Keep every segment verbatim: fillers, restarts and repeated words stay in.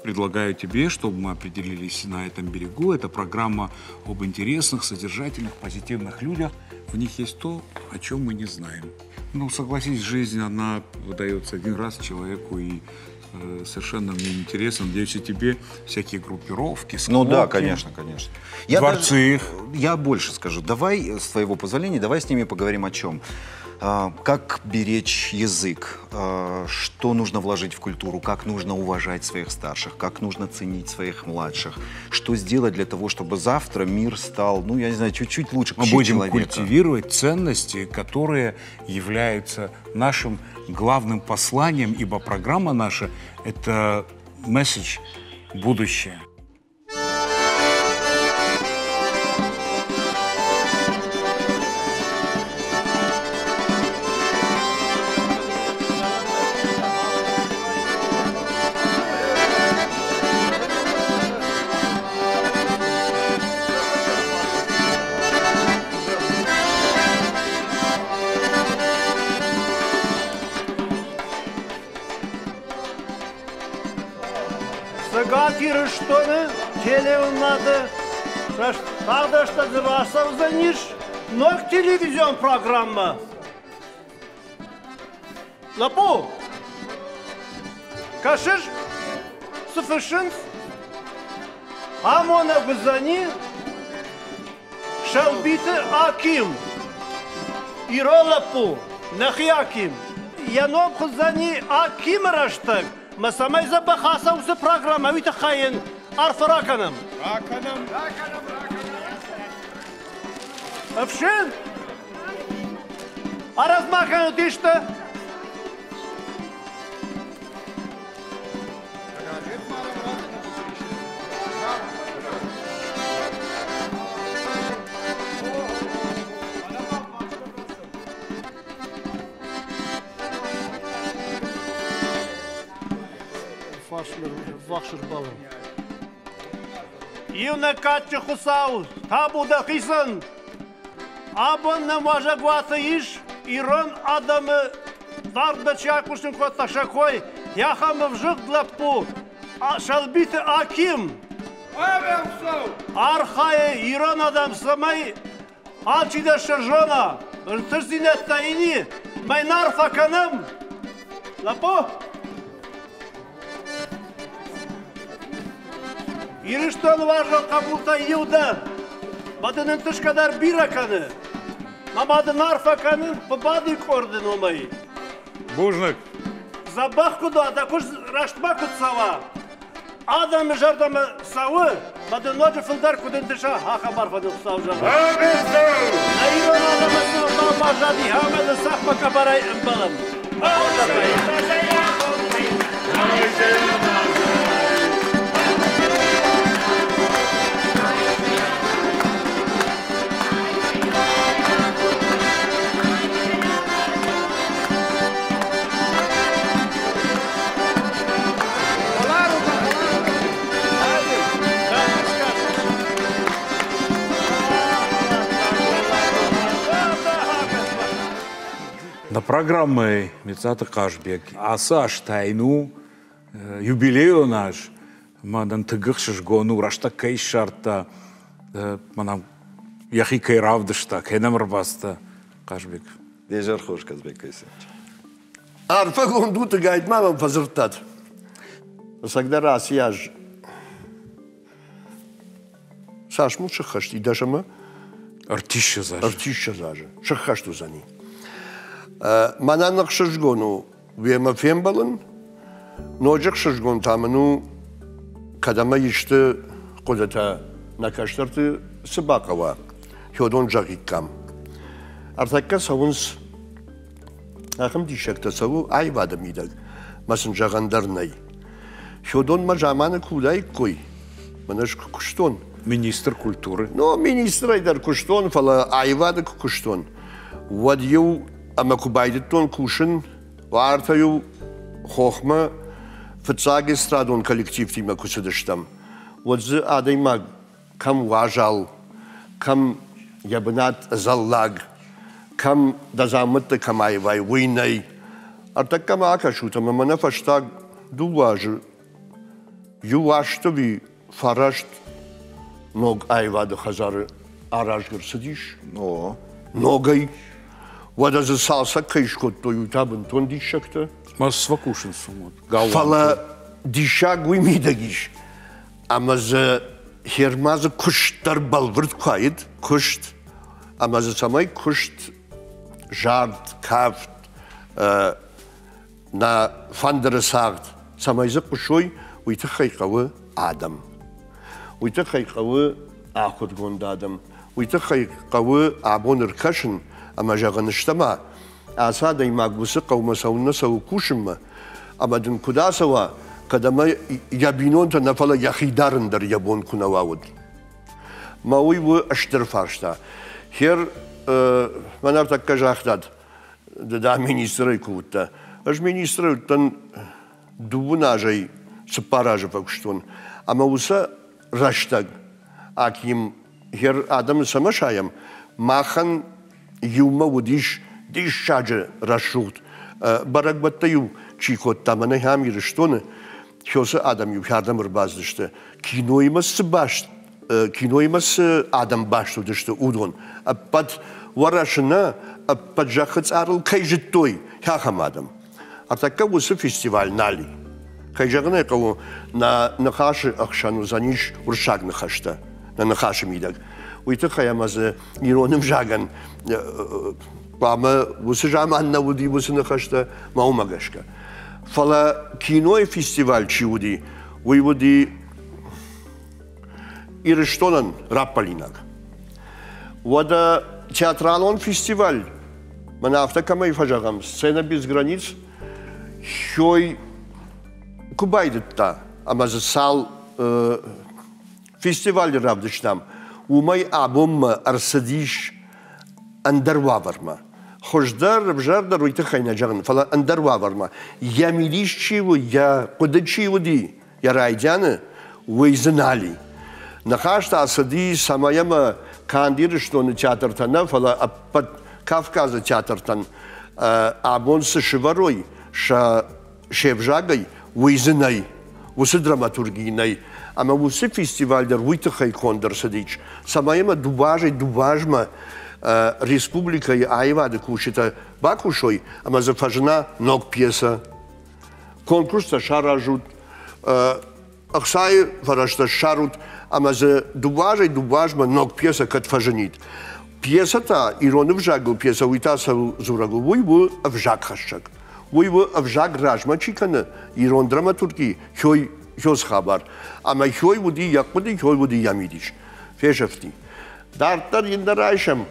Предлагаю тебе, чтобы мы определились на этом берегу. Это программа об интересных, содержательных, позитивных людях. В них есть то, о чем мы не знаем. Ну, согласись, жизнь, она выдается один раз человеку, и э, совершенно мне интересно. Надеюсь, и тебе всякие группировки, склоки. Ну да, конечно, конечно. Я дворцы. Даже, я больше скажу. Давай, с твоего позволения, давай с ними поговорим о чем. Как беречь язык, что нужно вложить в культуру, как нужно уважать своих старших, как нужно ценить своих младших, что сделать для того, чтобы завтра мир стал, ну, я не знаю, чуть-чуть лучше. Мы будем человека. культивировать ценности, которые являются нашим главным посланием, ибо программа наша – это месседж будущее. Ирыстоны телеуынады тағдашта рацӕудзӕнис ног телевизион программа. Лӕппу, кӕсыс, цы фыссынц? Амонӕг уыдзӕни Сӕлбиты Аким. Ирон лӕппу, нӕхи Аким. Йӕ ном хуыздзӕни Акимы рӕстӕг. Мӕ цӕмӕй дзӕбӕх ацӕуы программӕ, уый тыххӕй йын арфӕ ракӕнӕм. Ракӕнӕм, ракӕнӕм, ракӕнӕм. Ӕфсин, арӕзт ма кӕнут исты? Иунӕг кадджын Хуыцау, табу дӕхицӕн! Абон нӕм уазӕгуаты ис ирон адӕмы дардмӕ чи айхъусын кодта сӕ кой, ахӕм ӕвзыгъд лӕппу Сӕлбиты Аким. Архайы ирон адӕм, цӕмӕй алчидӕр сӕ зона, ӕнтыстдзинӕдтӕ ини, мӕ йын арфӕ кӕнӕм. Лӕппу! Ирыстоны уарзон хъӕбултӕй иу дӕ, мӕ дын ӕнтысгӕ дӕр бирӕ кӕны. Мӕ ма дын арфӕ кӕнын Хъуыбадыйы къорды номӕй. Бузныг. Дзӕбӕх куыд уа, дӕ куыст рӕстмӕ куыд цӕуа, адӕмы зӕрдӕмӕ цӕуы, мӕ дын ноджы фылдӕр куыд ӕнтыса, ахӕм арфӕ дын Хуыцау зӕгъӕд. Нӕ ирон адӕмы цы ӕгъдау баззади, ӕмӕ дын цӕхмӕ къӕбӕрӕй ӕмбӕлӕм. На программой Мецата Хъазбег ацы аз та йын у юбилейон аз, мӕнӕн тынг ӕхсызгон у, рӕстӕг кӕй ссардта, мӕнӕн йӕхи кӕй равдыста, кӕй нӕм ӕрбацыдта Хъазбег. Де зӕр хорз, Казбек Кайсенович. Арфӕгонд ут, гайтма мӕм фӕдзырдтат. Ӕцӕгдӕр ацы аз цас мыл сыххӕст и дӕс ӕмӕ ӕртиссӕдз азы. Ӕртиссӕдз азы сыххӕст уыдзӕни. Мӕнӕн ӕхсызгон у уемӕ фембӕлын, ноджы ӕхсызгон та мын у, кӕд ӕмӕ исты хъуыдытӕ нӕ кӕстӕрты цы бахъӕуа, хиодон зӕгъиккам. Ӕртӕккӕ цӕуынц ахӕм диссӕгтӕ цӕуы аивады мидӕг, мӕ сын зӕгъӕн дӕр нӕй. Хиодонмӕ заманы куы уыдаиккой, мӕнӕ ӕз куы куыстон. Министр культуры. Ну, министрӕй дӕр куыстон, фӕлӕ аивады куы куыстон, уӕд иу ӕмӕ куы байдыдтон кусын, уартӕ-иу хохмӕ фыццаг эстрадон коллективтимӕ куы цыдыстӕм, уӕд дзы адӕймаг кӕм уазал, кӕм йӕ бынат ӕдзӕллаг, кӕм дӕ дзаумӕттӕ кӕм аивай, уый нӕй. Ӕртӕккӕ ма акӕсут ӕмӕ мӕнӕ фӕстаг дыууӕ азы Иу азты фараст ног аивады хӕдзары арӕзт ӕрцыдис. Ногӕй. Уӕдӕ дзы цалцӕг кӕй скодтой, уый та бынтон диссӕгтӕ. Фӕлӕ диссаг уый мидӕг ис, ӕмӕ дзы Хермазы куыст дӕр бӕлвырд куы уаид, куыст, ӕмӕ дзы цӕмӕй куыст, зард, кафт, нӕ фӕндыры цагъд, цӕмӕй дзы хъуысой, уый тыххӕй хъӕуы адӕм. Уый тыххӕй хъӕуы ахуыргонд адӕм. Уый тыххӕй хъӕуы абон ӕркӕсын ӕмӕ зӕгъын стӕма, ацы адӕймаг уыцы хъӕумӕ цӕуыннӕ цӕуы кусынмӕ, ӕмӕ дын куыд ацӕуа, кӕд ӕмӕ йӕ бинонтӕ нӕ, фӕлӕ йӕхи дарын дӕр йӕ бон куы нӕ уа, уӕд. Мӕ уый у стыр фарста. Хер, мӕн ӕртӕккӕ загътат, ды дӕ министрӕй куы уыдтӕ. Ӕз министрӕй уыдтӕн дыууын азӕй цыппар азы фӕкуыстон. Ӕмӕ уыцы рӕстӕг Аким хер адӕмы цӕмӕ сайӕм, махӕн иумӕ уыдис диссаджы рӕсугъд бӕрӕгбӕттӕ-иу чи кодта, мӕнӕ ахӕм Ирыстоны, хёсы адӕм-иу хӕрдӕм ӕрбацыдысты. Киноимӕ цы баст, киноимӕ цы адӕм баст уыдысты, уыдон. Ӕппӕт Уӕрӕсе нӕ, ӕппӕт зӕххы цъарыл кӕй зыдтой, ахӕм адӕм. Ӕртӕккӕ уыцы фестиваль нал и. Кӕй зӕгъын ӕй хъӕуы, нӕ ныхасы ӕхсӕн уыдзӕнис уырыссаг ныхӕстӕ, нӕ ныхасы мидӕг. Уый тыххӕй ӕмӕ дзы ирон ӕвзагӕн хъуамӕ уыцы заман нӕ уыди уыцы ныхӕстӕ, мӕ уымӕ гӕсгӕ. Фӕлӕ кинойы фестиваль чи уыди, уый уыди Ирыстонӕн раппӕлинаг. Уӕдӕ театралон фестиваль, мӕнӕ афтӕ кӕмӕй фӕзӕгъӕм, «Сцена без границ», хёй куы байдыдта, ӕмӕ дзы цал фестивалы равдыстам, уымӕй абонмӕ ӕрцыдис ӕндӕр уавӕрмӕ. Хуыздӕр, ӕвзӕрдӕр уый тыххӕй нӕ зӕгъын, фӕлӕ ӕндӕр уавӕрмӕ. Йӕ мидис чи у, йӕ хъуыды чи уыди, йӕ райдианы, уый дзы нал и. Ныхас та цыди, цӕмӕй ӕмӕ канд Ирыстоны театртӕ нӕ, фӕлӕ ӕппӕт Кавказы театртӕн абон цы сывӕрой сӕ се взагӕй, уый дзы нӕй, уыцы драматурги нӕй. Ӕмӕ уыцы фестиваль дӕр уый тыххӕй конд ӕрцыдис, цӕмӕй ӕмӕ дыууӕ азӕй дыууӕ азмӕ республикӕйы аивады кусджытӕ бакусой ӕмӕ дзы фӕзына ног пьесӕ. Конкурстӕ саразут, ӕхцайы фӕрӕзтӕ ссарут ӕмӕ дзы дыууӕ азӕй дыууӕ азмӕ ног пьесӕ кӕд фӕзынид. Пьесӕ та, ирон ӕвзагыл пьесӕ, уый та цӕуыл дзурӕг у, уый у ӕвзагхӕссӕг. Уый у ӕвзаг размӕ чи кӕны, ирон драматурги хёй хёс хабар. Ӕмӕ хёй уыди йӕ хъуыды, хёй уыди йӕ мидис. Фесӕфти. Дарддӕр йын дӕр райсӕм,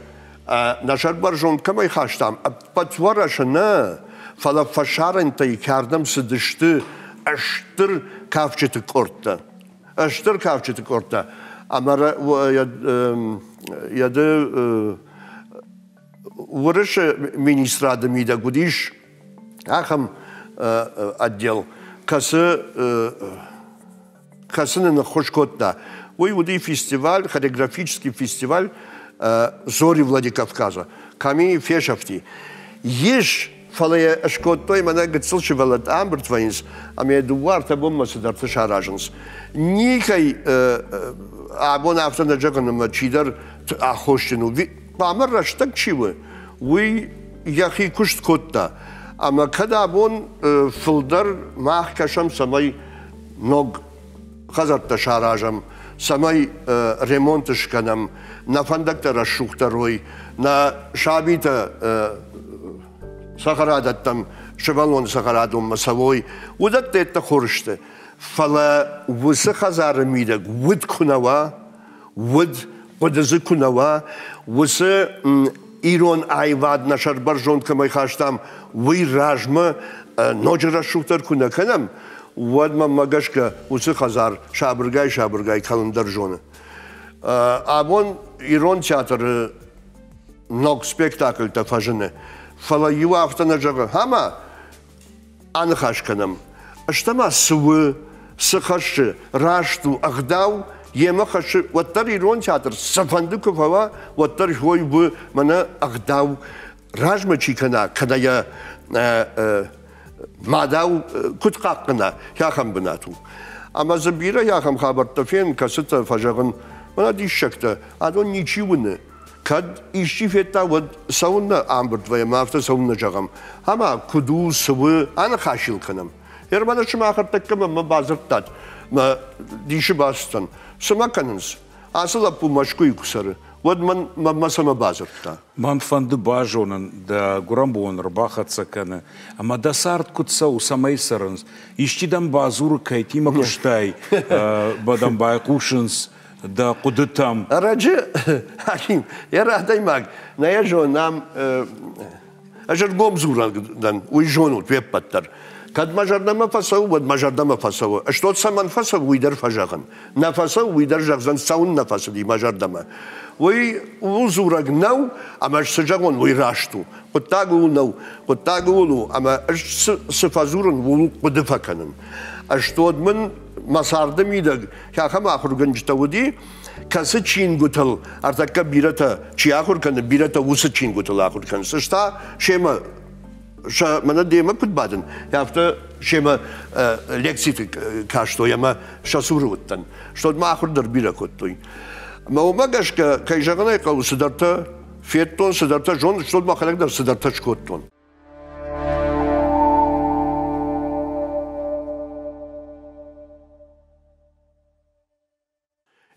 нӕ сӕрбӕрзонд кӕмӕй хастам, ӕппӕт Уӕрӕсе нӕ, фӕлӕ фӕсарӕнтӕй кӕрдӕм цыдысты стыр кафджыты къордтӕ. Стыр кафджыты къордтӕ. Ӕмӕ йӕ ды Уырысы министрады мидӕг уыдис ахӕм отдел, кӕцы кӕцы нын ӕххуыс кодта. Уый уыди фестиваль, хореографический фестиваль «Зори Владикавказа». Кӕми фесӕфти. Ис, фӕлӕ йӕ скодтой мӕнӕ гыццыл сывӕллӕттӕ ӕмбырд вӕййынц, ӕмӕ йӕ дыууӕ ӕртӕ бонмӕ цыдӕртӕ саразынц. Никӕй абон афтӕ нӕ зӕгъын, ӕмӕ чидӕр аххосджын у. Хъуамӕ рӕстӕг чи у, уый йӕхи куыст кодта. Ӕмӕ кӕд абон фылдӕр мах кӕсӕм, цӕмӕй ног хӕдзӕрттӕ саразӕм, цӕмӕй ремонт скӕнӕм, нӕ фӕндӕгтӕ рӕсугъддӕр уой, нӕ сабитӕ цӕхӕрадӕттӕм, сывӕллоны цӕхӕрадонмӕ цӕуой, уыдӕттӕ йедтӕ хорз сты. Фӕлӕ уыцы хӕдзары мидӕг уд куы нӕ уа, уд хъуыды дзы куы нӕ уа, уыцы ирон аивад нӕ сӕрбӕрзонд кӕмӕй хастам, уый размӕ ноджы рӕсугъддӕр куы нӕ кӕнӕм, уӕд мӕнмӕ гӕсгӕ уыцы хӕдзар сабыргай-сабыргай кӕлын дӕр зоны. Абон ирон театры ног спектакльтӕ фӕзыны, фӕлӕ иу афтӕ нӕ зӕгъы, ӕмӕ аныхас кӕнӕм. Стӕ-ма цы у, цы хӕссы, раст у, ӕгъдау йемӕ хӕссы, уӕддӕр ирон театр цыфӕнды куы фӕуа, уӕддӕр хой у мӕнӕ ӕгъдау размӕ чи кӕна, кӕнӕ йӕ мадау куыд хъахъхъӕна, ахӕм бынат у. Ӕмӕ дзы бирӕ ахӕм хабӕрттӕ фен, кӕцытӕ фӕзӕгъын, мӕнӕ диссӕгтӕ, адон ничи уыны. Кӕд исчи федта, уӕд цӕуыннӕ ӕмбырд вӕййӕм, афтӕ цӕуыннӕ зӕгъӕм. Ӕмӕ куыд у, цы у, аныхас ыл кӕнӕм. Ӕрмӕст сымах ӕртӕккӕ мӕ бадзырдтат, мӕ дисы бацыдтӕн. Цы ма кӕнынц? Ацы лӕппу Мӕскуыйы куы цӕры, уӕд мӕн мӕ цӕмӕ бадзырдта. Мӕн фӕнды базонын, дӕ гуырӕнбон ӕрбахӕццӕ кӕны, ӕмӕ дӕ цард куыд цӕуы, цӕмӕй цӕрынц. Исчи дӕм бадзуры, кӕйтимӕ куыстай, дӕм байхъусынц дӕ хъуыдытӕм. Ӕрӕджы, Аким, йӕ адӕймаг, нӕ йӕ зонӕм, ӕз ӕргом дзурӕг дӕн, уый зонут уе ппӕт дӕр. Кӕд мӕ зӕрдӕмӕ фӕцӕуы, уӕд мӕ зӕрдӕмӕ фӕцӕуы. Ӕз цӕмӕн фӕцӕуы, уый дӕр фӕзӕгъын. Нӕ фӕцӕуы, уый дӕр зӕгъдзӕн, цӕуын нӕ фӕцыди мӕ зӕрдӕмӕ. Уый ууыл дзурӕг нӕу, ӕмӕ ӕз цы зӕгъон, уый раст у. Хъуыддаг ууыл нӕу, хъуыддаг ууыл у, ӕмӕ ӕз цы фӕдзурын, ууыл хъуыды фӕкӕнын. Ӕз тод мын мӕ царды мидӕг ахӕм ахуыргӕнджытӕ уыди, кӕцы чингуытыл, ӕртӕккӕ бирӕтӕ чи ахуыр кӕны, бирӕтӕ уыцы чингуытыл ахуыр кӕнынц. Ӕз та семӕ мӕнӕ демӕ куыд бадын, афтӕ семӕ лекциты кастой ӕмӕ сӕ цуры уыдтӕн. Стӕй ма ахуыр дӕр бирӕ кодтой. Мӕ уымӕ гӕсгӕ, кӕй зӕгъын ӕй хъӕуы, цыдӕртӕ федтон, цыдӕртӕ зонын, стӕй мӕхӕдӕг дӕр цыдӕртӕ скодтон.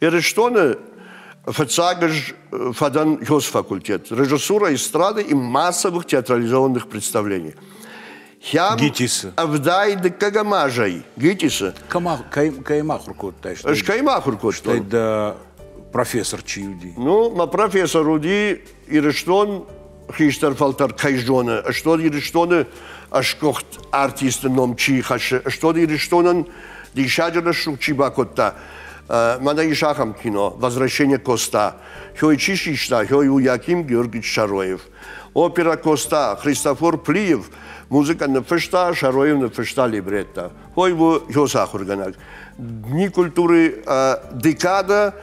Ирыстоны фыццаг ӕз фӕдӕн факультет режиссура эстрады и массовых театрализованных представлений. ГИТИСы. Ӕвдай дыккӕгӕм азӕй ГИТИСы. Кӕй ахуыр кодтай? Ӕз кӕй ахуыр кодтон? Стӕй дӕ профессор чи уыди? Ну, мӕ профессор уыди Ирыстон хистӕр фӕлтӕр кӕй зоны, стӕй Ирыстоны ӕсгуыхт артисты ном чи хӕссы, стӕй Ирыстонӕн диссаджы рӕсугъд чи бакодта. Мӕнӕ ис ахӕм кино «Возвращение Коста». Хёй чи систа, хёй у Яким Георгиевич Шароев. Опера «Коста» Христофор Плиев, музыка ныффыста, Шароев ныффыста либретто. Хой у хёс ахуыргӕнӕг. Дни культуры декада,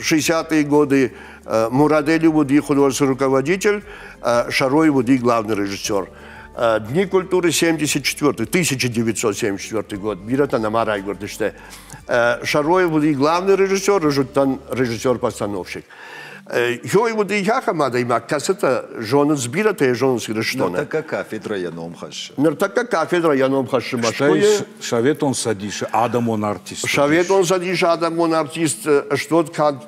шестидесятые годы, Мурадели уыди художественный руководитель, Шароев уыди главный режиссер. Дни культуры семьдесят четвёртый, тысяча девятьсот семьдесят четвёртый год, бирӕтӕ нӕма райгуырдысты. Шароев уыди главный режиссер, режиссер-постановщик. Хёй уыди ахӕм адӕймаг, кӕцытӕ зонынц бирӕтӕ йӕ зонынц Ирыстоны. Ныртӕккӕ кафедрӕ йӕ ном хӕссы. Ныртӕккӕ кафедрӕ йӕ ном хӕссы Мӕскуыйы. Советон Цӕдисы адӕмон артист. Советон Цӕдисы адӕмон артист, стод канд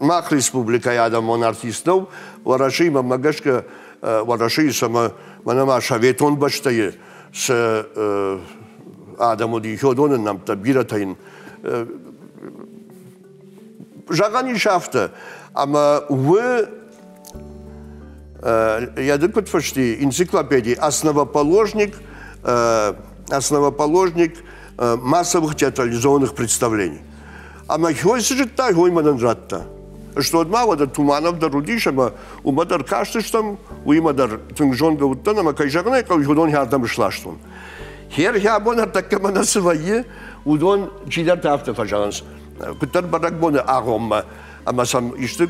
мах республикӕйы адӕмон артист нӕу, Уӕрӕсейы мӕ гӕсгӕ Уӕрӕсейы сӕмӕ мӕнӕ ма советон бӕстӕйы цы адӕм уыди, уыдоны нӕмттӕ бирӕтӕ йын зӕгъӕн ис афтӕ, ӕмӕ уы йӕ ды куыд фысти энциклопедийы основоположник, основоположник массовых театрализованных представлений. Ӕмӕ хёй цы зыдта, хёй мӕнӕн радта. Стӕй ма уӕдӕ Туманов дӕр уыдис, ӕмӕ уымӕ дӕр кастыстӕм, уыимӕ дӕр тынг зонгӕ уыдтӕн, ӕмӕ кӕй зӕгъын ӕй хъӕуы, уыдон хӕрдӕм сластон. Хер абон ӕртӕккӕ мӕнӕ цы вӕййы, уыдон чидӕртӕ афтӕ фӕзӕгъынц. Куыддӕр бӕрӕгбоны агъоммӕ, ӕмӕ сӕм исты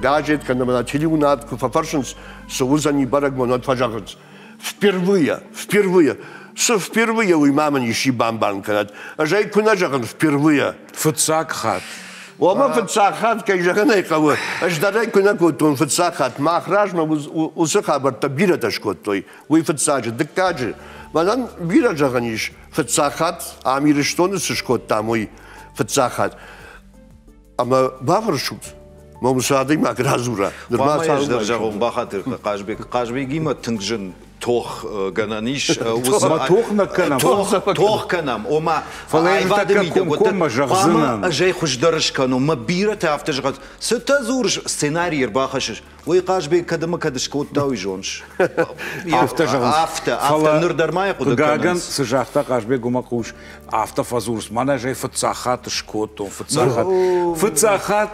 газет кӕнӕ мӕнӕ телеуынад куы фӕфӕрсынц, цы уыдзӕни бӕрӕгбон, уӕд фӕзӕгъынц. Впервые, впервые. Цы впервые, уый ма мын исчи бамбарын кӕнӕд. Ӕз ӕй куы нӕ зӕгъын впервые. Фыццаг хатт. Ома фыццаг хатт, кӕй зӕгъын ӕй хъӕуы, ӕз дӕр ӕй куы нӕ кодтон фыццаг хатт, мах размӕ уыцы хабӕрттӕ бирӕтӕ скодтой. Уый фыццаджы, дыккаджы. Мӕнӕн бирӕ зӕгъӕн ис, фыццаг хатт ам Ирыстоны цы скодтам, уый фыццаг хатт. Ӕмӕ бафӕрсут, мӕ уыцы адӕймаг радзура. Хъуамӕ ӕз дӕр зӕгъон, бахатыр Хъазбег. Хъазбегимӕ тынг зын тох гӕнӕн ис. Тох нӕ кӕнӕм. Тох кӕнӕм. Ома аивады мидӕг хъуамӕ ӕз ӕй хуыздӕр скӕнон. Мӕ бирӕтӕ афтӕ зӕгъынц, цытӕ дзурыс, сценарий ӕрбахӕссыс. Уый Хъазбег кӕд ӕмӕ кӕд скодта, уый зоныс. Афтӕ зӕгъынц. Афтӕ, афтӕ ныр дӕр ма йӕ хъуыды кӕнынц. Цы загъта Хъазбег, уымӕ хъус, афтӕ фӕдзурыс, мӕнӕ ӕз ӕй фыццаг хатт скодтон, фыццаг хатт. Фыццаг хатт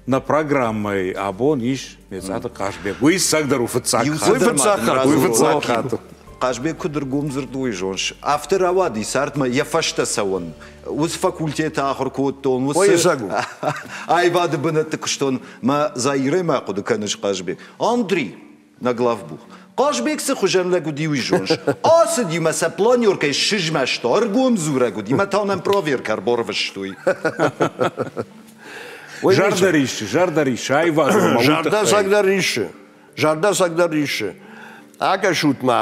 нӕ программӕйы абон ис Мецъаты Хъазбег. Уый цӕгдӕр у фыццаг хатт. Уый фыццаг хатт. Уый фыццаг хатт. Хъазбег куыд ӕргомдзырд, уый зоныс. Афтӕ рауади цардмӕ йӕ фӕстӕ цӕуын. Уыцы факультеты ахуыр кодтон, уыцы аивады бынӕтты куыстон. Мӕ Заирӕ мӕ хъуыды кӕныс, Хъазбег. Андрей, нӕ главбух. Хъазбег цы хуызӕн лӕг уыди, уый зоныс. Ацыди мӕ сӕ планеркӕй сызмӕста, ӕргом дзурӕг уыди, мӕ та нӕм проверкӕ ӕрбарвыстой. Зӕрдӕ риссы, зӕрдӕ риссы, аивадон ӕмӕ уый Зӕрдӕ тыххӕй. цӕгдӕр риссы, зӕрдӕ цӕгдӕр риссы. Акӕсут ма,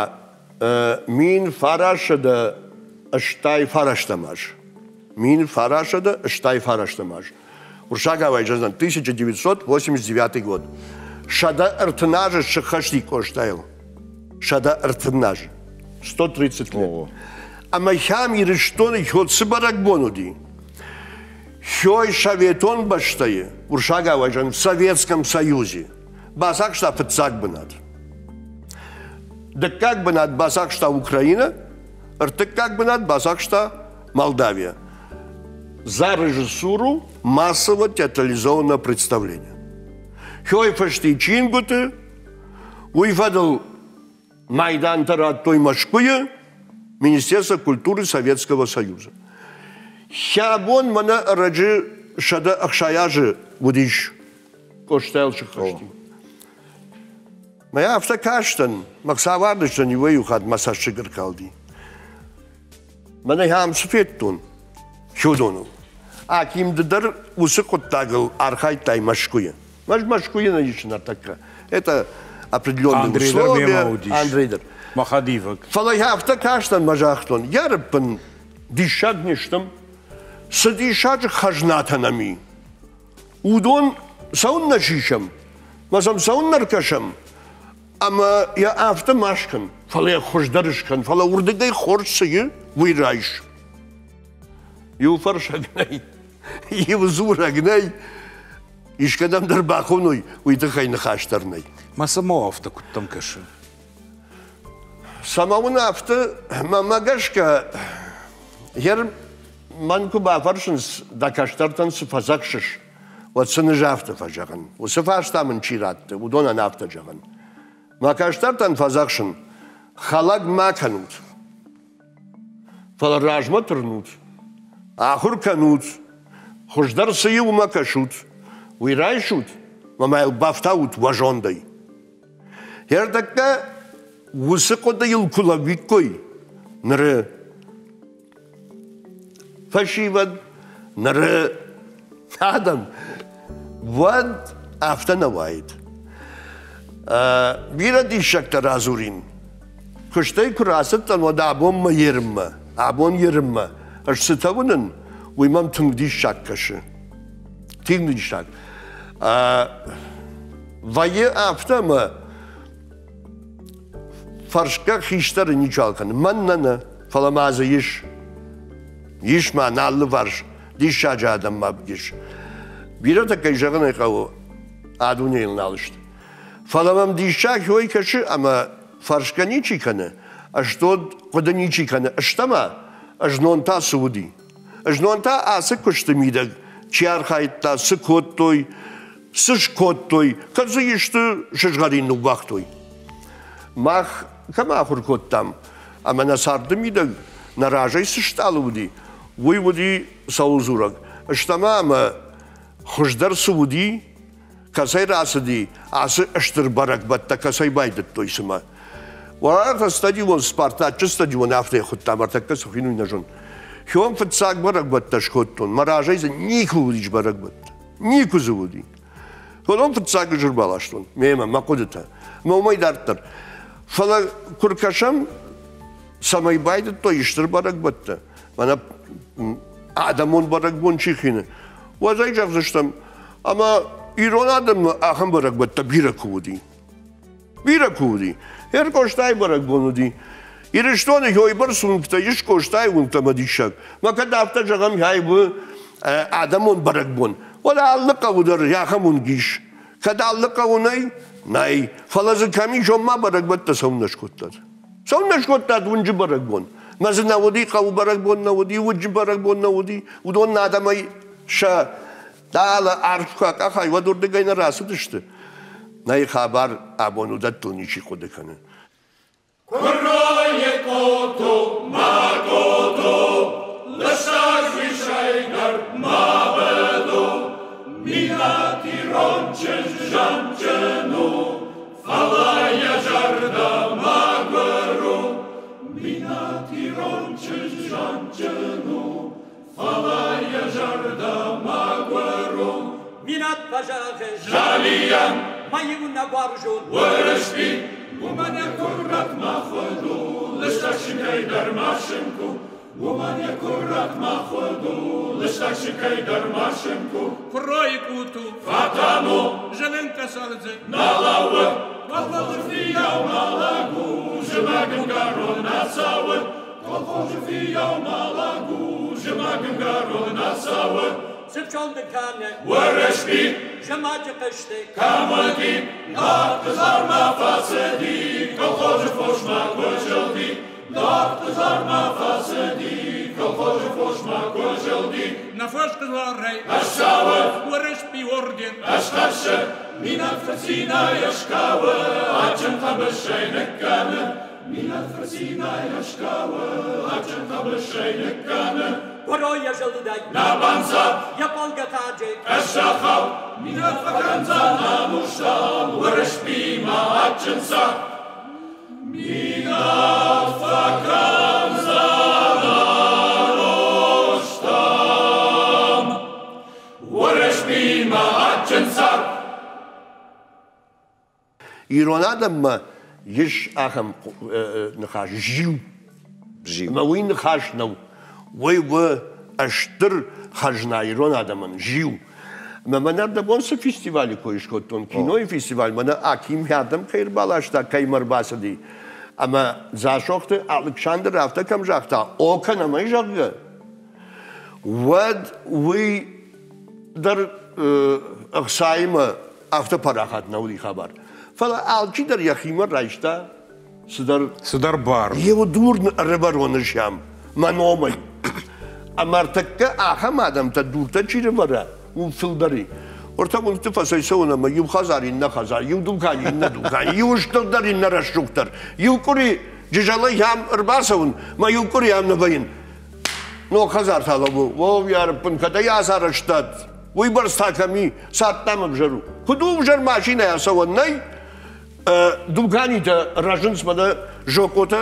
мин фарасӕдӕ ӕстай фарӕстӕм аз. Мин фарасӕдӕ ӕстай фарӕстӕм аз. Уырыссагау зӕгъдзӕн тысяча девятьсот восемьдесят девятый год. Сӕдӕ ӕртын азы сыххӕсти Къостайыл. Сӕдӕ ӕртын азы. Сто тридцать лет. Ӕмӕ хӕм Ирыстоны цы бӕрӕгбон уыди? Хёй советон бӕстӕйы, уырыссагау зӕгъын, в Советском Союзе, бацахста фыццаг бынат. Дыккаг бынат бацахста Украина, ӕртыккаг бынат бацахста Молдавия. За режиссуру массово театрализованного представления. Хёй фысти чингуыты, уый фӕдыл майдантӕ радтой Мӕскуыйы, Министерство культуры Советского Союза. Хӕбон мӕнӕ ӕрӕджы сӕдӕ ӕхсай азы уыдис Къостайыл сыххӕсти. Мӕ афтӕ кастӕн, мӕ хцавардыстӕн иуӕй-иу хатт мӕ цӕссыг ӕркалди. Мӕнӕ ахӕм цы федтон Хёдоныл. Аким ды дӕр уыцы хъуыддагыл архайдтай Мӕскуыйы. Мӕз Мӕскуыйы нӕ ис ныртӕккӕ. Это определенные Андрей дӕр условия. мемӕ уыдис. Андрей дӕр. Мӕ хӕдивӕг. Фӕлӕ афтӕ кастӕн мӕ загътон, йа рыппын диссаг не стӕм, цы диссаджы хӕзнатӕ нӕм и. Уыдон цӕуыннӕ сисӕм, мӕ сӕм цӕуыннӕ ркӕсӕм, ӕмӕ йӕ афтӕ ма скӕн, фӕлӕ йӕ хуыздӕр скӕн, фӕлӕ уырдыгӕй хорз цы и, уый райс. Иу фӕрсӕг нӕй, иу дзурӕг нӕй, искӕдӕм дӕр бахоной, уый тыххӕй ныхас дӕр нӕй. Мӕ цӕмӕ афтӕ куыдтӕм кӕсы? Цӕмӕ уын афтӕ, мӕнмӕ гӕсгӕ, йер мӕн куы бафӕрсынц, дӕ кӕстӕртӕн цы фӕдзӕхсыс, уӕд сын ӕз афтӕ фӕзӕгъын. Уыцы фарста мын чи радты, уыдонӕн афтӕ зӕгъын. Мӕ кӕстӕртӕн фӕдзӕхсын, хӕлӕг ма кӕнут, фӕлӕ размӕ тырнут, ахуыр кӕнут, хуыздӕр цы и, уымӕ кӕсут, уый райсут, мӕ ма йыл бафтаут уӕ зондӕй. Ӕртӕккӕ уыцы хъуыдыйыл куы лӕууиккой ныры фӕсивӕд, ныры адӕм, уӕд афтӕ нӕ уаид. Бирӕ диссӕгтӕ радзурин. Куыстӕй куы рацыдтӕн, уӕд абонмӕ ерынмӕ, абон ерынмӕ, ӕз цытӕ уынын, уый мӕм тынг диссаг кӕсы. Тынг диссаг. Вӕййы афтӕ ӕмӕ фӕрсгӕ хистӕры ничуал кӕны. Мӕн нӕ нӕ, фӕлӕ ма дзы ис. Ис ма нӕ алыварс диссаджы адӕм ма ис. Бирӕтӕ, кӕй зӕгъын ӕй хъӕуы, а дунейыл нал сты. Фӕлӕ мӕм диссаг уый кӕсы, ӕмӕ фӕрсгӕ ничи кӕны, ӕздод хъуыды ничи кӕны. Ӕстӕма, ӕзнон та цы уыди? Ӕзнон та ацы куысты мидӕг чи архайдта, цы кодтой, цы скодтой, кӕд дзы исты сызгъӕрин ныууагътой. Мах кӕм ахуыр кодтам, ӕмӕ нӕ царды мидӕг нӕ разӕй цы стъалы уыди, уый уыди цӕуыл дзурӕг. Ӕстӕма ӕмӕ хуыздӕр цы уыди, кӕцӕй рацыди, ацы стыр бӕрӕгбӕттӕ кӕцӕй байдыдтой цымӕ. Уӕртӕ стадион, Спартачы стадион афтӕ хуыдтам, ӕртӕккӕ цы хуыйны, уый нӕ зонын. Хион фыццаг бӕрӕгбӕттӕ скодтон, мӕ разӕй дзы никуы уыдис бӕрӕгбӕттӕ. Никуы дзы уыди. Уыдон фыццаг ӕз ӕрбаластон, мемӕ, мӕ хъуыдытӕ. Мӕ уымӕй дарддӕр. Фӕлӕ куы ркӕсӕм, цӕмӕй байдыдтой стыр бӕрӕгбӕттӕ, мӕнӕ адӕмон бӕрӕгбон чи хины, уӕд ӕй зӕгъдзыстӕм, ӕмӕ ирон адӕммӕ ахӕм бӕрӕгбӕттӕ бирӕ куы уыди. Бирӕ куы уыди. Ӕркъостайы бӕрӕгбон уыди. Ирыстоны уыйбӕрц уынгтӕ ис, Къостайы уынгтӕ мӕ диссаг. Мӕ кӕд афтӕ зӕгъӕм, ай у адӕмон бӕрӕгбон, уӕд алы хъӕуы дӕр ахӕм уынг ис. Кӕд алы хъӕуы нӕй, нӕй. Фӕлӕ дзы кӕм ис, уым ма бӕрӕгбӕттӕ цӕуыннӕ скодтат? Цӕуыннӕ скодтат уынджы бӕрӕгбон? Мӕ дзы нӕ уыди, хъӕуы бӕрӕгбон нӕ уыди, уынджы бӕрӕгбон нӕ уыди. Уыдон адӕмӕй сӕ дӕлӕ арф куы акъахай, уӕд уырдыгӕй нӕ рацыдысты. Нӕй хабар абон уыдӕттыл ничи хъуыды кӕны. Куыройы къото, ма къото, лыстӕг уисӕй дӕр ма быд у, Минӕт ирон чызг зӕнджын у, фӕлӕ йӕ зӕрдӕ Минат ирон чызг зондджын у, фӕлӕ йӕ зӕрдӕ мӕгуыр у. Минат фӕзӕгъы Залийӕн мӕ иунӕг уарзон Уырысби, уымӕн йӕ куырӕт мӕ хуыд у, лыстӕг сынкӕй дӕр ма сынк у. Уымӕн йӕ куырӕт мӕ хуыд у, лыстӕг сынкӕй дӕр ма сынк у. Куыройы къуту Фӕтӕн у, зылын къӕсӕлдзы нӕ лӕууы, колхозы фыййау ма лӕг у, зымӕг ӕмгӕрон нӕ цӕуы. Колхозы фыййау ма лӕг у, зымӕг ӕмгӕрон нӕ цӕуы. Цыпчонды кӕны Уырысби, зымӕджы хъызты кӕм уыди, Нарты фӕцыди, колхозы фосмӕ куы зылди. Нарты зармӕ фӕцыди, колхозы фосмӕ куы зылди. Нӕ фӕсхъызларӕй Ӕссӕуы, Уырысби орден ӕсхӕссы, Минат фырцинӕй ӕскӕуы, адджын хъӕбысӕй ныккӕны. Минат фырцинӕй ӕскӕуы, адджын хъӕбысӕй ныккӕны. Куыройӕ зылдӕй Нӕ банцад йӕ фӕлгӕтаджы ӕссахау, Минат фӕкӕндзӕн ӕнустӕм Уырысбимӕ адджын цард. Минат фӕкӕндзӕн ӕнустӕм Уырысбимӕ адджын цард. Ирон адӕммӕ ис ахӕм ныхас зиу. Зиу. Ӕмӕ уый ныхас нӕу. Уый у стыр хӕзна ирон адӕмӕн зиу. Ӕмӕ мӕнӕ ӕрдӕбон цы фестивалы кой скодтон, кинойы фестиваль, мӕнӕ Аким ардӕм кӕй ӕрбаласта, кӕй мӕ ӕрбацыди. Ӕмӕ Дзасохты Алыксандр афтӕ кӕм загъта, о кӕнӕм ӕй, зӕгъгӕ, уӕд уый дӕр ӕхцаимӕ афтӕ парахат нӕ уыди хабар. Фӕлӕ алчидӕр йӕхимӕ райста цыдӕр Цыдӕр бар. Еу дур ӕрӕвӕрон сӕм мӕ номӕй. Ӕмӕ ӕртӕккӕ ахӕм адӕмтӕ дуртӕ чи рывӕра, уым фылдӕр и. Ортӕ уынгты фӕцӕйцӕуын ӕмӕ иу хӕдзар иннӕ хӕдзар, иу дукани иннӕ дукани, иу стырдӕр иннӕ рӕсугъддӕр. Иу къуыри Джызӕлӕй ам ӕрбацӕуын, мӕ иу къуыри ам нӕ вӕййын. Ног хӕдзар та лӕууы, о, йарыппын, кӕд ӕй ацарӕзтат, уый бӕрц та кӕм и, цард дам ӕвзӕр у. Куыд у ӕвзӕр машинӕйӕ цӕуӕн нӕй, дуканитӕ рӕзынц мӕнӕ зокъотӕ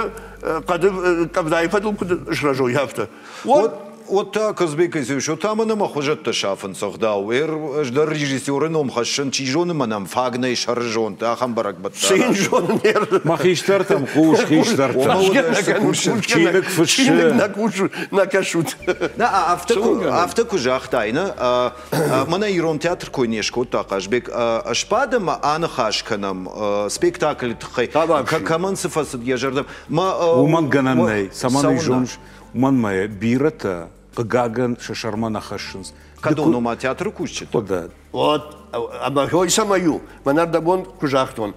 хъӕды къӕвдайы фӕдыл куыд срӕзой, афтӕ. Вот Вот та Казбек Казбекович, вот там ӕмӕ хуызӕттӕ сафынц ӕгъдау. Эр ӕз дӕр режиссеры ном хӕссын, чи зоны мӕнӕн фаг нӕй сӕрызонд, ахӕм бӕрӕгбӕттӕ. Цы йын зонын эр? Ма хистӕртӕм хъус, хистӕртӕм. Чиныг фыссы. Чиныг нӕ кусут, нӕ кӕсут. Нӕ, афтӕ куы, афтӕ куы загътай, нӕ, мӕнӕ ирон театр кой не скодта Хъазбег, сбадӕм ӕмӕ аныхас кӕнӕм спектаклы тыххӕй. Кӕмӕн цы фӕцыд йӕ зӕрдӕ. Уымӕн гӕнӕн нӕй, цӕмӕн уый зоныс, уымӕн мӕ бирӕтӕ хъыгагӕн сӕ сӕрмӕ нӕ хӕссынц. Кӕдон ома театры кусджытӕ? Хъуыды. Вот, ӕмӕ хой цӕмӕй у, мӕнӕ ӕрдӕбон куы загътон,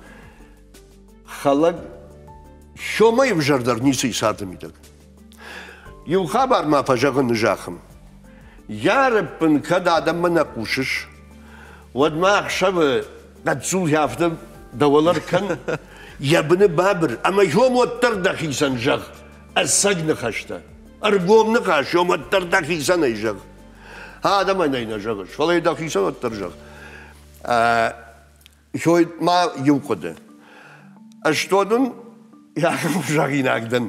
хӕлӕг сомӕй ӕвзӕрдӕр ницы и царды мидӕг. Иу хабар ма фӕзӕгъын зӕххым. Йарыппын кӕд адӕммӕ нӕ хъусыс, уӕд ма ӕхсӕвы хъӕццул афтӕ дӕуӕлӕр кӕн, йӕ быны бабыр, ӕмӕ йом уӕддӕр дӕхицӕн зӕгъ, ӕцӕг ныхӕстӕ. Ӕргом ныхас йом уӕддӕр дӕхицӕн ӕй зӕгъ. Адӕмӕн ӕй нӕ зӕгъыс, фӕлӕ дӕхицӕн уӕддӕр зӕгъ. Хой ма иу хъуыды. Ӕз то дын зӕгъинаг дӕн.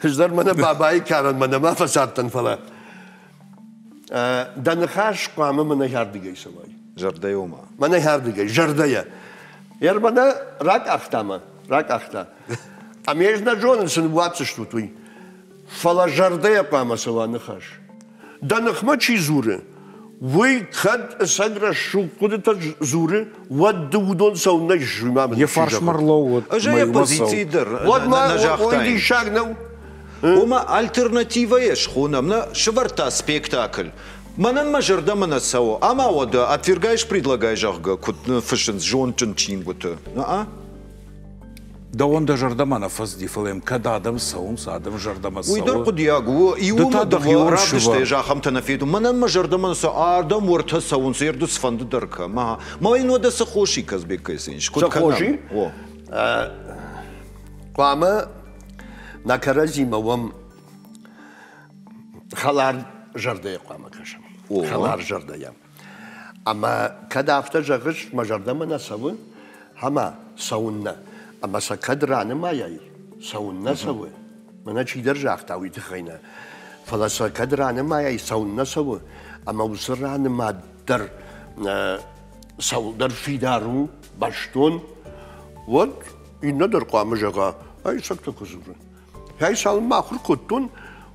Ӕз дӕр мӕнӕ бабайы карӕн мӕнӕ ма фӕцардтӕн, фӕлӕ дӕ ныхас хъуамӕ мӕнӕ ардыгӕй цӕуай. Зӕрдӕйӕ ома? Мӕнӕ ардыгӕй, зӕрдӕйӕ. Ер мӕнӕ ракъахта мӕ, ракъахта. Ӕмӕ ӕз нӕ зонын, цы ныууадздзыстут уый. Фӕлӕ зӕрдӕйӕ хъуамӕ цӕуа ныхас. Дӕ ныхмӕ чи дзуры, уый кӕд ӕцӕг рӕсугъд хъуыдытӕ дзуры, уӕд ды уыдон цӕуыннӕ ис, уый ма мын Йӕ фарсмӕ рлӕууыд. Ӕз ӕй оппозицийы дӕр Уӕд ма нӕ уый загътаин. диссаг нӕу. Ома альтернативӕйӕ схонӕм, нӕ сывӕрдта спектакль. Мӕнӕн мӕ зӕрдӕмӕ нӕ цӕуы. Ӕмӕ уӕдӕ отвергаешь, предлагай, зӕгъгӕ, куыд фыссынц зондджын чингуыты. На-а? Дӕуӕн дӕ зӕрдӕмӕ нӕ фӕцыди, фӕлӕ йӕм кӕд адӕм цӕуынц, адӕм зӕрдӕмӕ Уый дӕр цӕуы. хъуыдиаг у. Ды та Иумӕ дӕхион дыууӕ равдыстӕй сывӕр. ахӕмтӕ нӕ федтон. Мӕнӕн мӕ зӕрдӕмӕ нӕ цӕуы, ардӕм уӕртӕ цӕуынц, ерды цыфӕнды дӕр кӕм. Ага. Ма йын уӕдӕ цы хос и, Казбек Кайсенович? Куыд Цы хос и? кӕнӕм? О. Хъуамӕ нӕ кӕрӕдзимӕ уӕм хӕлар зӕрдӕйӕ хъуамӕ кӕсӕм. О. Хӕлар зӕрдӕйӕ. Ӕмӕ кӕд афтӕ зӕгъыс, мӕ зӕрдӕмӕ нӕ цӕуы, ӕмӕ цӕуыннӕ. Ӕмӕ сӕ кӕд ранымайай, цӕуыннӕ цӕуы, Мӕнӕ чидӕр загъта, уый тыххӕй нӕ. Фӕлӕ сӕ кӕд ранымайай, цӕуыннӕ цӕуы, ӕмӕ уыцы ранымад дӕр цӕуылдӕр фидар у, бӕстон, уӕд иннӕ дӕр хъуамӕ зӕгъа, ай цӕгтӕ куы дзуры. Ай цалынмӕ ахуыр кодтон,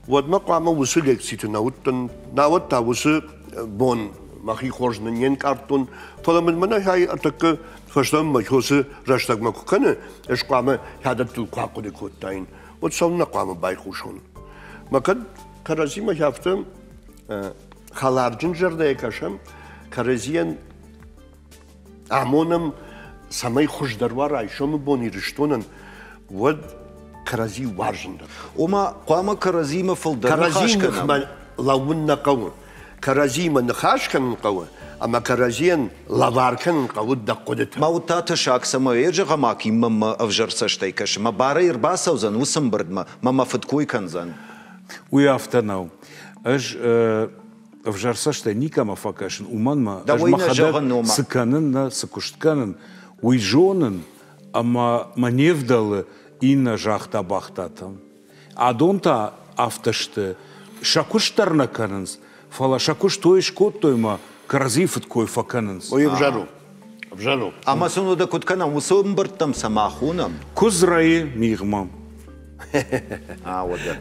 уӕдмӕ хъуамӕ уыцы лекциты нӕ уыдтӕн, науӕд та уыцы бон мӕхи хорз не нкъардтон, фӕлӕ мын мӕнӕ ай ӕртӕккӕ фӕстӕмӕ мӕ уыцы рӕстӕгмӕ куы кӕны, ӕз хъуамӕ хӕдӕттыл куы ахъуыды кодтаин, уӕд цӕуылнӕ хъуамӕ байхъусон. Мӕ кӕд кӕрӕдзимӕ афтӕ хӕларджын зӕрдӕйӕ кӕсӕм, кӕрӕдзийӕн амонӕм, цӕмӕй хуыздӕр уа райсомы бон Ирыстонӕн, уӕд кӕрӕдзи уарзын дӕр. Ома хъуамӕ кӕрӕдзимӕ фылдӕр ныхас кӕнӕм. Лӕууын нӕ хъӕуы. Кӕрӕдзимӕ ныхас кӕнын хъӕуы, ӕмӕ кӕрӕдзийӕн лӕвар кӕнын хъӕуы дӕ хъуыдытӕ. Ма уыд та тӕссаг, цӕмӕй зӕгъӕм, Акиммӕ мӕ ӕвзӕр цӕстӕй кӕсы, мӕ барӕй ӕрбацӕудзӕн уыцы ӕмбырдмӕ, мӕ мӕ фыдкой кӕндзӕн. Уый афтӕ нӕу. Ӕз ӕвзӕр цӕстӕй никӕмӕ фӕкӕсын, уымӕн мӕ ӕз мӕхӕдӕг цы кӕнын, нӕ цы куыст кӕнын, уый зонын, ӕмӕ мӕ не вдӕлы иннӕ загъта бахтатӕм. Адон та афтӕ сты, сӕ куыст дӕр нӕ кӕнынц, фӕлӕ сӕ куыст ой скодтой мӕ кӕрӕдзийы фыдкой фӕкӕнынц. Ой, ӕвзӕр у. Ӕвзӕр у. Ӕмӕ сын уӕдӕ куыд кӕнӕм, уыцы ӕмбырдтӕм цӕмӕ хонӕм? Куыдз рӕйы мигъмӕ. Уӕдӕ.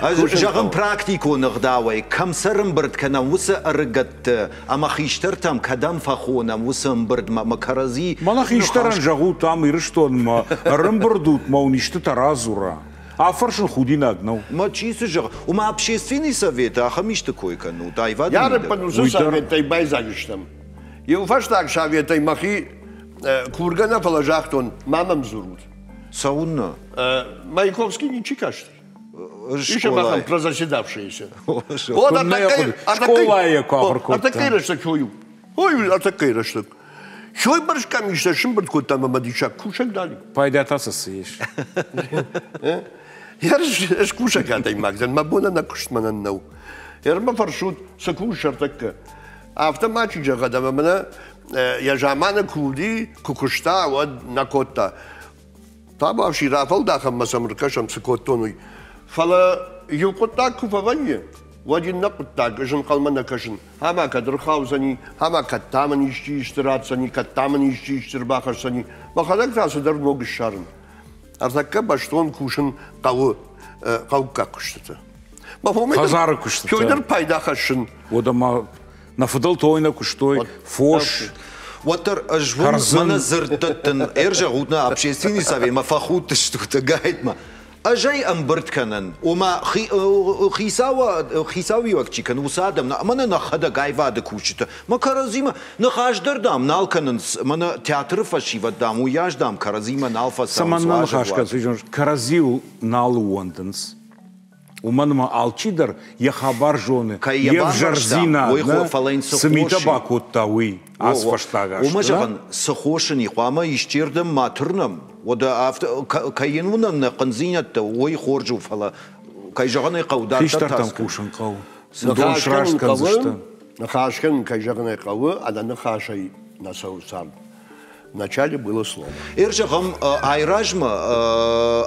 Ӕз зӕгъын практикон ӕгъдауӕй, кӕм сӕрымбырд кӕнӕм уыцы ӕрыгӕтты ӕмӕ хистӕртӕм кӕдӕм фӕхонӕм уыцы ӕмбырдмӕ ӕмӕ кӕрӕдзи... Мӕнӕ хистӕрӕн зӕгъут ам Ирыстонмӕ, ӕрӕмбырд ут мӕ уын истытӕ радзура. Афӕрсын худинаг нӕу. Ма чи цы зӕгъы? Уымӕ общественный совет ахӕм исты кой кӕнут, аивады мидӕг. Ярыппӕн уыцы советтӕй байдзаг стӕм. Иу фӕстаг советӕй мӕхи кургӕ нӕ, фӕлӕ загътон, ма мӕм дзурут. Цӕуыннӕ? Маяковский ничи касти. Еще махам прозаседавшиеся. Школайы куы ахуыр кодта. Ӕртӕккӕйы рӕстӕг хой. Ой, ӕртӕккӕйы рӕстӕг. Хой бӕрз къамистӕ сымбырд кодта ӕмӕ диссаг кусӕг дали. Пайда та цы цы ис? Ӕз кусӕг адӕймаг дӕн, мӕ бон ӕнӕ куыст мӕнӕн нӕу. Ӕрмӕ фӕрсут, цы кусыс ӕртӕккӕ. Афтӕ ма чи зӕгъӕд ӕмӕ мӕнӕ йӕ заманы куы уыди, куы куыста, уӕд нӕ кодта. Табуафси рафӕлдахӕм ӕмӕ сӕм ӕркӕсӕм, цы кодтон, уый. Фӕлӕ иу хъуыддаг куы фӕвӕййы, уӕд иннӕ хъуыддаг ӕз ӕнхъӕлмӕ нӕ кӕсын. Ӕмӕ кӕд ӕрхаудзӕни, ӕмӕ кӕд та мын исчи исты ратдзӕни, кӕд та мын исчи исты ӕрбахӕсдзӕни. Мӕхӕдӕг та цыдӕр ног ссарын. Ӕртӕккӕ бӕстон кусын хъӕуы хъӕуккаг куыстыты. Хӕдзары куыстытӕ. Фёдор пайда хӕссын. Уӕдӕ ма нӕ фыдӕлтӕ ой нӕ куыстой, фос. Уӕддӕр ӕз уым мӕнӕ дзырд дӕттын, ӕрзӕгъут нӕ общественный советмӕ фӕхудтыстут гайтмӕ. Ӕз ӕй ӕмбырд кӕнын, ома хицауиуӕг чи кӕны, уыцы адӕм, мӕнӕ нӕхӕдӕг аивады кусджытӕ, мӕ кӕрӕдзимӕ ныхас дӕр, дам, нал кӕнынц, мӕнӕ театры фӕсивӕд, дам, уыйас, дам, кӕрӕдзимӕ нал фӕцӕуынц. Цӕмӕннӕ ныхас кӕнынц, кӕрӕдзиуыл нал ууӕндынц. Уымӕн ӕмӕ алчидӕр йӕ хабар зоны, йе взӕрдзинад, цы митӕ бакодта, уый ацы фӕстаг азты. Уымӕ зӕгъын, цы хос ын и, хъуамӕ исчердӕм ма тырнӕм, уӕдӕ афтӕ кӕй йын уынӕм нӕ хъындзинӕдтӕ, уый хорз у, фӕлӕ кӕй зӕгъын ӕй хъӕуы, дарддӕр Хистӕртӕм хъусын хъӕуы. Дон сраст кӕндзысты. Ныхас кӕнын, кӕй зӕгъын ӕй хъӕуы, ӕнӕ ныхасӕй нӕ цӕуы цард. Вначале было слово. Ӕрзӕгъӕм, айразмӕ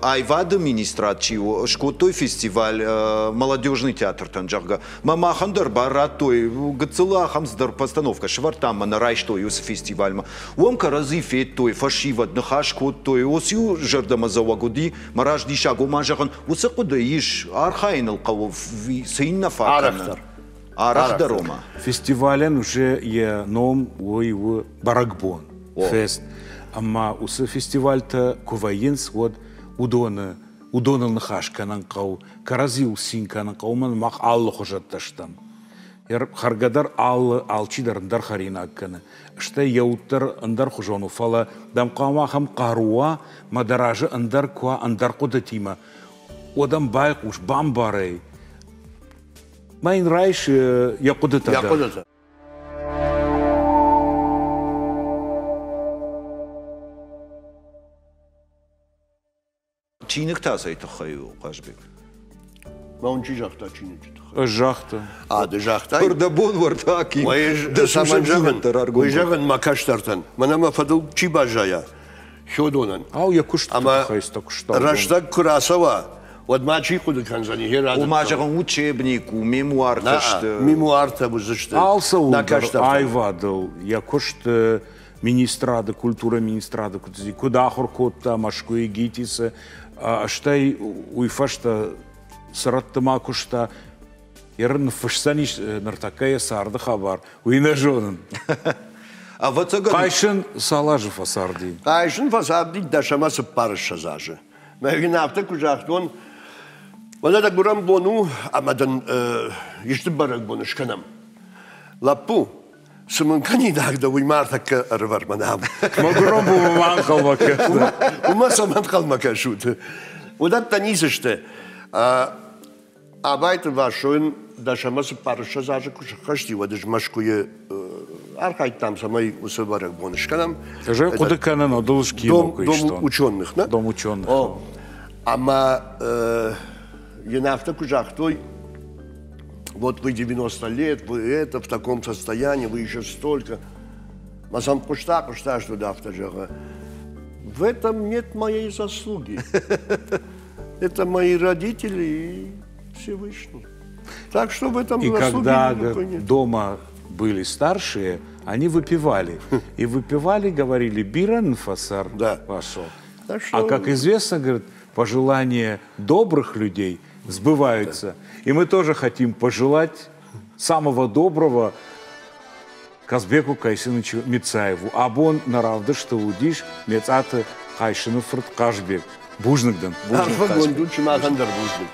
аивады министрад чи у, скодтой фестиваль молодежный театртӕн, зӕгъгӕ. Мӕ махӕн дӕр бар радтой, гыццыл ахӕм цыдӕр постановкӕ сӕвӕрдтам мӕ нӕ райстой уыцы фестивальмӕ. Уым кӕрӕдзи федтой, фӕсивӕд ныхас кодтой, уыцы-иу зӕрдӕмӕдзӕуӕг уыди, мӕ раз диссаг, ома зӕгъын, уыцы хъуыды ис, архайыныл хъӕуы, цы йын нӕ фаг кӕны. Арӕхдӕр. Арӕхдӕр ома. Фестивалӕн уже йӕ ном уый у бӕрӕгбон. Фест. Ӕмӕ уыцы фестивальтӕ куы вӕййынц, уӕд уыдоны уыдоныл ныхас кӕнын хъӕуы, кӕрӕдзиуыл цин кӕнын хъӕуы, уымӕн мах алы хуызӕттӕ стӕм. Хӕргӕ дӕр алы, алчидӕр ӕндӕр хӕринаг кӕны. Стӕй йӕ уд дӕр ӕндӕрхуызон у, фӕлӕ дӕм хъуамӕ ахӕм хъару уа, мӕ дӕ разы ӕндӕр куы уа, ӕндӕр хъуыдытимӕ, уӕд ӕм байхъус, бамбар ӕй. Ма йын райс йӕ хъуыдытӕ дӕр. Чиныг та цӕй тыххӕй у, Хъазбег? Ма уын чи загъта чиныджы тыххӕй? Ӕз загътон. А, ды загътай? Дӕ бон уӕртӕ, Аким. Дӕ цӕмӕн зӕгъын, уый зӕгъын мӕ кӕстӕртӕн. Мӕнӕ мӕ фӕдыл чи баззайа, Хёдонӕн. Ау, йӕ куысты тыххӕй цы куыста. Рӕстӕг куы рацӕуа, Уӕд ма чи хъуыды кӕндзӕни, йе радзырдтон. Ома, зӕгъын, учебник у, мемуартӕ сты. Мемуартӕ уыдзысты. Алцӕуыл дӕр аивадыл йӕ куыст министрады, культурӕйы министрады куыд цыди, куыд ахуыр кодта Мӕскуыйы ГИТИС-ы, стӕй уый фӕстӕ цы рӕтты ма куыста, йе ныффысдзӕнис ныртӕккӕ йӕ царды хабар, уый нӕ зонын. Ӕвӕццӕгӕн... Хъайсын цал азы фӕцарди? Хъайсын фӕцарди дӕс ӕмӕ цыппарыссӕдз азы. Мӕ йын афтӕ куы загътон, уӕдӕ дӕ гуырӕн бон у, ӕмӕ дын исты бӕрӕгбон скӕнӕм. Лӕппу, цы мын кӕнинаг дӕ, уый ма ӕртӕккӕ ӕрывӕр мӕнӕ ам. Мӕ гуырӕн бонмӕ ма ӕнхъӕлмӕ кӕсут. Уымӕ цӕмӕ ӕнхъӕлмӕ кӕсут? Уыдӕттӕ ницы сты. Абайты Васойын дӕс ӕмӕ цыппарыссӕдз азы куы сыххӕсти, уӕд ӕз Мӕскуыйы архайдтам, цӕмӕй уыцы бӕрӕгбон скӕнӕм. Ӕз ӕй хъуыды кӕнын, одыл скино куы истон. Дом ученых, нӕ? Дом ученых. Ӕмӕ йын афтӕ куы загътой, вот вы девяносто лет, вы это, в таком состоянии, вы еще столько. Мӕ сӕм хъуыста, хъуыста, что афтӕ зӕгъы. В этом нет моей заслуги. Это мои родители и Всевышний. Так что в этом И заслуги когда никакой нет. дома были старшие, они выпивали. И выпивали, говорили, бирен фасар Да. пошел. Так что... А как известно, говорит, пожелания добрых людей сбываются. Да. И мы тоже хотим пожелать самого доброго Казбеку Кайсыновичу Мицаеву. Абон наравдышты уыдис Мецаты Хъайсыны фырт Хъазбег. Бузныг дын. Арфӕгонд у, сымахӕн дӕр бузныг.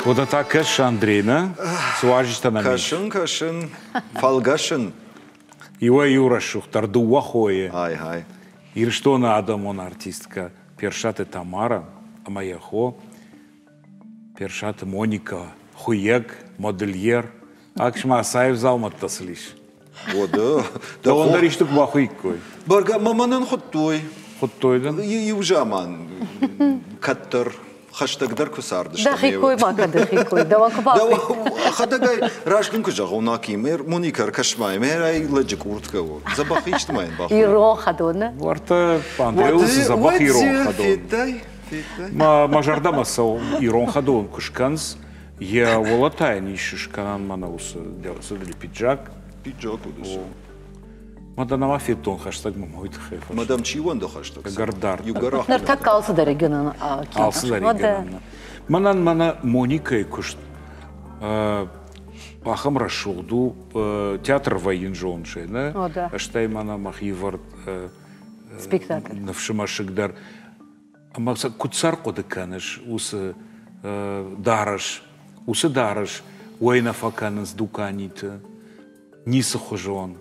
Вот та кӕсыс, Андрей, нӕ? Цы уазджытӕ нӕм ис? Кӕсын, кӕсын, фӕлгӕсын. Иуӕй-иу рӕсугъддӕр дыууӕ хойы. Ай-хай. Ирыстоны адӕмон артисткӕ Персаты Тамара ӕмӕ йӕ хо Персаты Моника, хуыйӕг, модельер. Акс-ма, цаив дзаумӕттӕ сыл ис. Уӕдӕ. Дӕуӕн дӕр исты куы бахуыиккой. Бӕргӕ, мӕ мӕнӕн хуыдтой. Хуыдтой дын? Иу заман кӕддӕр хӕстӕгдӕр куы цардыстӕм. Дӕхи кой ма кӕ, дӕхи кой. Дӕуӕн куы бахуыиккой. Хӕдӕгай, раст дын куы зӕгъон, Аким, Моника, ӕркӕс-ма, мӕ лӕджы къурткӕ у. Дзӕбӕх исты ма йын бахуыйы. Ирон хӕдоны. Уӕртӕ Андрейыл цы дзӕбӕх ирон хӕдон. Федтай, федтай. Мӕ зӕрдӕмӕ цӕуы ирон хӕдон куы скӕнц, йӕ уӕлӕ йын ис скӕнӕн мӕнӕ уыцы пиджак. Пиджак уыдыс. Мадам нӕма федтон хӕстӕгмӕ уый тыххӕй. Мадам чи уӕнды хӕстӕг? Ӕгӕр Иугӕр Ныртӕккӕ алцыдӕр гӕнӕн. Алцыдӕр гӕнӕн. Мӕнӕн мӕнӕ Моникӕйы куыст ахӕм рӕсугъд у, театр вӕййын зонсы, нӕ? Стӕй мӕнӕ мӕхи вӕрд спектакль. Ныфсы мӕсыг дӕр. Ӕмӕ куыд сӕр хъуыды кӕныс уыцы дарӕс, уыцы дарӕс уӕй нӕ фӕкӕнынц дуканиты, ницы хуызон.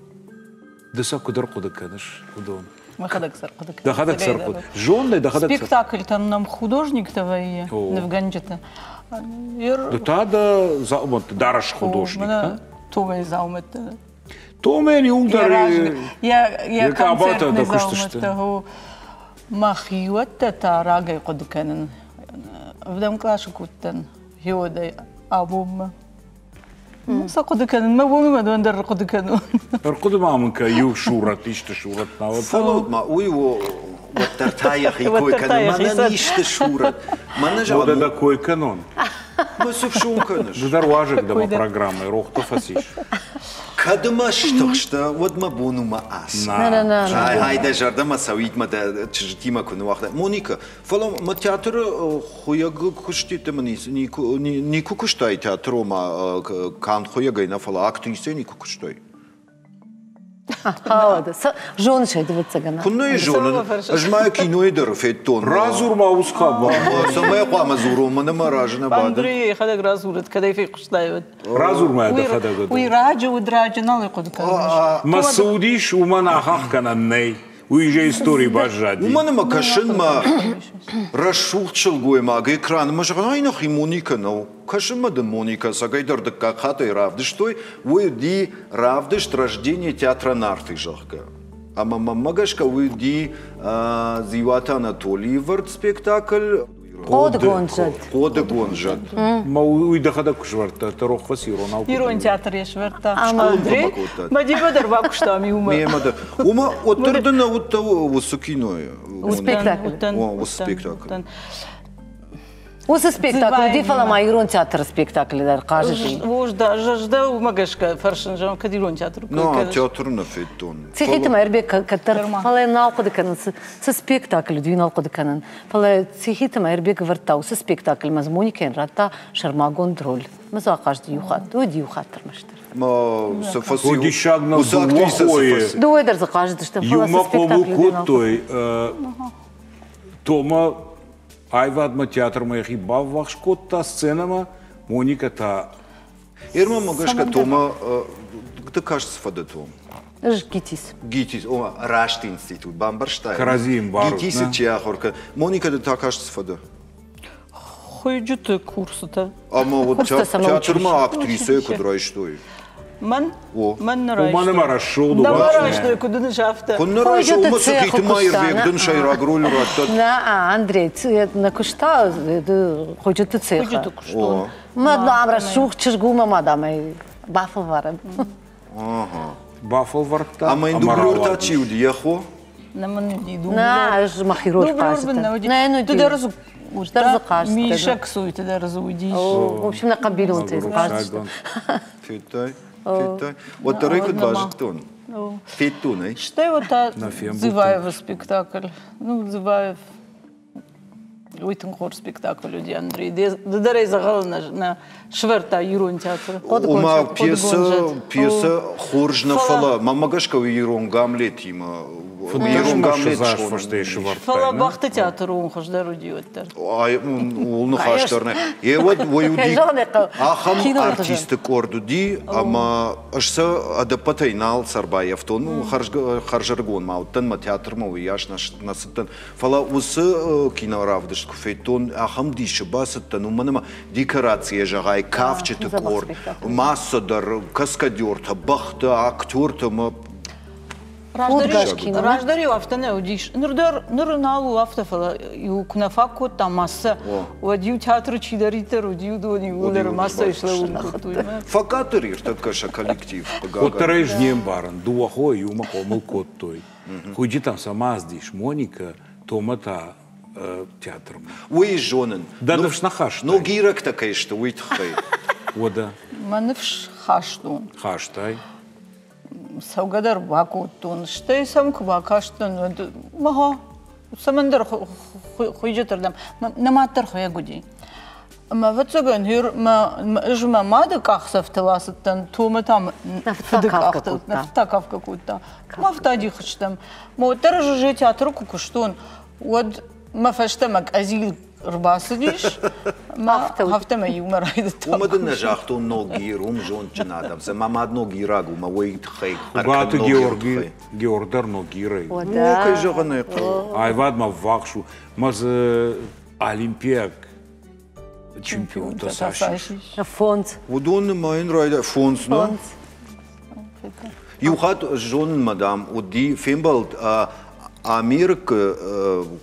Ды сӕ куыд ӕрхъуыды кӕныс, уыдон? Мӕхӕдӕг сӕ ӕрхъуыды кӕнын. Дӕхӕдӕг сӕ ӕрхъуыды. Зоннӕ, дӕхӕдӕг сӕ. Спектакльтӕн нӕм художниктӕ вӕййы, нывгӕнджытӕ. Ды та дӕ дзаумӕтты дарӕс художник, нӕ? Томайы дзаумӕттӕ. Томайӕн иуылдӕр йӕ концертны дзаумӕттӕ. Мӕхиуӕттӕ та рагӕй хъуыды кӕнын. Ӕвдӕм къласы куы уыдтӕн, гъеуӕдӕй абонмӕ. Сӕ хъуыды кӕнын, мӕ бон уымӕн дӕр ӕрхъуыды кӕнон. Ӕрхъуыды ма мын кӕ иу сурӕт, исты сурӕт науӕд. Фӕлӕуут ма, уый у уӕддӕр та йӕхи кой кӕны. Мӕнӕн исты сурӕт. Мӕнӕ зӕгъӕм... Уӕдӕ дӕ кой кӕнон. Мӕ цы фсон кӕныс? Ды дӕр уазӕг дӕ мӕ программӕйы, рохты фӕцис. Кӕд мӕ стыхстӕ, уӕд мӕ бон у мӕ ас. Ай, дӕ зӕрдӕмӕ цӕуид мӕ дӕ чызджытимӕ куы ныуагътай. Моника, фӕлӕ мӕ театры хуыйӕг куыститы мын никуы куыстай театры, ома канд хуыйӕгӕй нӕ, фӕлӕ актрисӕй никуы куыстай. Зоныс ӕй, дывӕццӕгӕн. Куыннӕ йӕ зонын, ӕз ма кинойы дӕр федтон. Радзур ма уыцы хабар. Цӕмӕй хъуамӕ дзурон, мӕнӕ мӕ разы нӕ бады. Андрей йӕхӕдӕг радзурӕд, кӕд ӕй фехъуыстай, уӕд. Радзур ма дӕхӕдӕг. Уый раджы уыд, раджы, нал ӕй хъуыды кӕнын. Мӕ цы уыдис, уымӕн ахахх кӕнӕн нӕй. Уый же историйы баззади. Уымӕн ӕмӕ кӕсын мӕ рӕсугъд сылгоймаг экранмӕ зӕгъын, ай нӕхи Моника нӕу. Кӕсынмӕ дын Моника цӕгӕйдӕр дыккаг хатт ӕй равдыстой, уый уыди равдыст «Рождение театра Нарты», зӕгъгӕ. Ӕмӕ мӕнмӕ гӕсгӕ уый уыди Дзиуаты Анатолийы вӕрд спектакль. Хъодыгонд зӕд. Хъодыгонд зӕд. Ма уый дӕхӕдӕг куы сӕвӕрдта, ты рох фӕци иронау. Ирон театр йӕ сӕвӕрдта. Андрей, Мадимӕ дӕр бакуыстам иумӕ. Мемӕ дӕр. Уымӕ уӕддӕр ды нӕ уыдтӕ уыцы кинойы. Спектакль. Уыцы спектакль. Уыцы спектакль уыди, фӕлӕ ма ирон театры спектаклы дӕр хъазыди. Ӕз дӕ уымӕ гӕсгӕ фӕрсын, зӕгъын, кӕд ирон театры кой кӕныс. Театр нӕ федтон. Цихиты Мӕирбег кӕддӕр, фӕлӕ нал хъуыды кӕнын, цы спектакль уыди, нал хъуыды кӕнын. Фӕлӕ Цихиты Мӕирбег ӕвӕрдта уыцы спектакльмӕ Моникӕйӕн радта сӕрмагонд роль. Мӕ дзы ахъазыди иу хатт, уыди иу хатт ӕрмӕстдӕр. Диссаг нӕу дыууӕ хойы. Дыууӕ дӕр дзы хъазыдысты, фӕлӕ цы Иумӕ хъомыл спектакль уыди, нал кодтой. Тома аивадмӕ театрмӕ йӕхи баввахс кодта сценӕмӕ, Моника та... Ермӕ гӕсгӕ Тома, ты каст цы фӕдӕ, Том? Ӕз ГИТИС. ГИТИС, ома раст институт, бамбӕрстай? Кӕрӕдзийы ӕмбарут, ГИТИСы чи ахуыр кӕны. Моника, ды та каст цы фӕдӕ? Хуыйджыты курсытӕ. Ӕмӕ вот театрмӕ актрисӕйы куыд райстой? Мӕн? Мӕн нӕ райстой. Уымӕн ӕмӕ рӕсугъд у. Нӕ мӕ райстой, куыд дын афтӕ. Куыд нӕ райстой, уымӕ Цихиты Мӕирбег дын сӕйраг роль радта. Нӕ, Андрей, нӕ куыста хуыйджыты цехы. Хуыйджыты куыстон. Мӕ дам рӕсугъд чызг у, мӕ мадамӕй бафӕлварӕм. Бафӕлвӕрдта. Ӕмӕ йын дублер та чи уыди, йӕ хо? Нӕ мын уыди дублер. Нӕ, ӕз мӕхи роль хъазыдтӕн. Нӕ, нӕ Ды дӕр дзы дӕр дзы хъазыдтӕн. Миша Ксуйты дӕр дзы уыдис. В общем, нӕ хъӕбилонтӕй хъазыдысты. Федтай? Федтай? Уӕддӕр ӕй куыд базыдтон? Федтон ӕй? Стӕй вот та Дзываевы спектакль. Ну, Дзываев уый тынг хорз спектакль уыди, Андрей. Ды дӕр ӕй дзӕгъӕлы нӕ сӕвӕрдта ирон театры. Ома пьесӕ, пьесӕ хорз нӕ, фӕлӕ мӕнмӕ гӕсгӕ уый ирон Гамлетимӕ Ирон Гамлет Фӕлӕ бӕхты театры уым хуыздӕр уыди уӕддӕр. Ууыл ныхас дӕр нӕ. Йе уӕд уый уыди ахӕм артисты къорд уыди, ӕмӕ ӕз сӕ ӕдӕппӕтӕй нал сӕрбаййӕфтон. Ну, хӕрзӕрыгон ма уыдтӕн, мӕ театрмӕ уыйас нӕ цыдтӕн. Фӕлӕ уыцы киноравдыст куы федтон, ахӕм дисы бацыдтӕн, уымӕн ӕмӕ декорацийӕ зӕгъай, кафджыты къорд, масса дӕр, каскадертӕ, бӕхтӕ, актертӕ ӕмӕ Раздӕр-иу афтӕ нӕ уыдис. Ныр дӕр ныр нал у афтӕ, фӕлӕ иу куы нӕ фаг кодта массӕ, уӕд иу театры чидӕриддӕр уыди, уыдон иууылдӕр массӕйы слӕууын кодтой. Фӕкъаддӕр ӕртӕккӕ сӕ коллектив. Уӕддӕр ӕз не мбарын, дыууӕ хойы иумӕ хъомыл кодтой. Хуыйджытӕм сӕ мацдис Моника, Тома та театрмӕ. Уый зонын. Дӕ ныфс нӕ хастай? Ногирӕгтӕ кӕй сты, уый тыххӕй. Уӕдӕ? Мӕ ныфс хастон. Хастай? Цӕугӕ дӕр бакодтон, стӕй сӕм куы бакастӕн, уӕд мӕ цӕмӕндӕр хуыйджыты рдӕм, нӕ мад дӕр хуыйӕг уыди. Ӕмӕ ӕвӕццӕгӕн ӕз мӕ мады къахдзӕфтыл ацыдтӕн, Тома та фыды къӕхтыл, нӕ фыд та кафгӕ кодта. Мӕ афтӕ адих стӕм. Мӕ уӕддӕр ӕз уже театры куы куыстон, уӕд мӕ фӕстӕмӕ къӕдзил ӕрбацыдис, афтӕ мӕ иумӕ райдыдтам. Уымӕ дын нӕ загътон Ногир, уым зондджын адӕм. Мӕ мад ногираг у, мӕ уый тыххӕй Хуыгаты Георги, Геор дӕр Ногирӕй. Ну, кӕй зӕгъын ӕй хъӕуы. Аивадмӕ ввахс у. Мӕ дзы олимпиаг чемпионтӕ цас ис? Фондз. Уыдон нымайын райдай фондз, нӕ? Иу хатт зонын, мадам, уыди фембӕлд Америкы,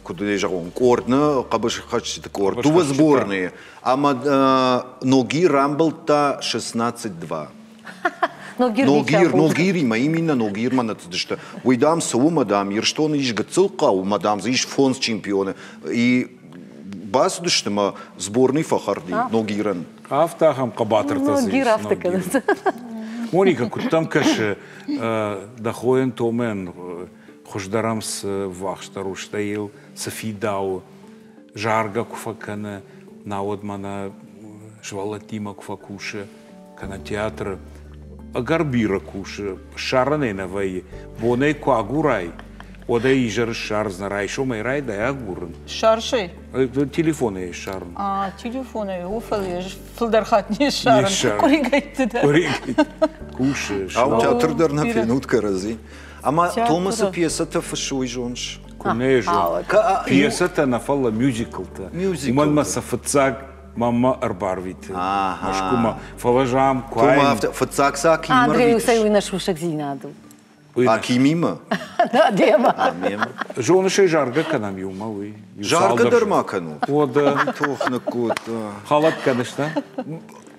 куыд ӕй зӕгъон, къорд, нӕ хъӕбысхӕцджыты къорд, дыууӕ сборные, ӕмӕ Ногир рамбылдта шестнадцать два. Ногир, Ногир, Ногиримӕ, именно Ногирмӕ нӕ цыдысты. Уый, дам, цы у, мадам, Ирыстоны ис гыццыл хъӕу, мадам, дзы ис фондз чемпионы. И бацыдысты мӕ сборный фӕхӕрди Ногирӕн. Афтӕ ахӕм хъӕбатыртӕ дзы ис. Ногир афтӕ кӕнынц. Моника, куыд дӕм кӕсы, дӕ хойӕн Томӕн хуыздӕр ӕм цы ввахсдӕр у, стӕй йыл цы фидауы, заргӕ куы фӕкӕны, науӕд мӕнӕ сывӕллӕттимӕ куы фӕкусы, кӕнӕ театры, ӕгӕр бирӕ кусы, ссарынӕй нӕ вӕййы. Бонӕй куы агурай, уӕд ӕй изӕры ссардзынӕ, райсомӕй райдай агурын. Ссарсай? Телефонӕй ссарын. А, телефонӕй, о, фӕлӕ фылдӕр хатт не ссарын. Къуыригӕйтты дӕр. Къуыригӕйтты. Кусы. Ау, театр дӕр нӕ фенут кӕрӕдзи. Ӕмӕ Томасы пьесӕтӕ фыссы, уый зоныс? Куы нӕ зон. Пьесӕтӕ нӕ, фӕлӕ мюзиклтӕ. Уымӕн мӕ сӕ фыццаг маммӕ ӕрбарвиты Мӕскуымӕ. Фӕлӕ зам куы Тома афтӕ фыццаг сӕ Акиммӕ Андрей, усӕй уый нӕ сусӕгдзинад у. Акимимӕ? Да, демӕ. Зоныс ӕй, заргӕ кӕнӕм иумӕ уый. Заргӕ дӕр ма кӕнут? Уӕдӕ. Тох ныккодта. Хӕлӕг кӕныс, да?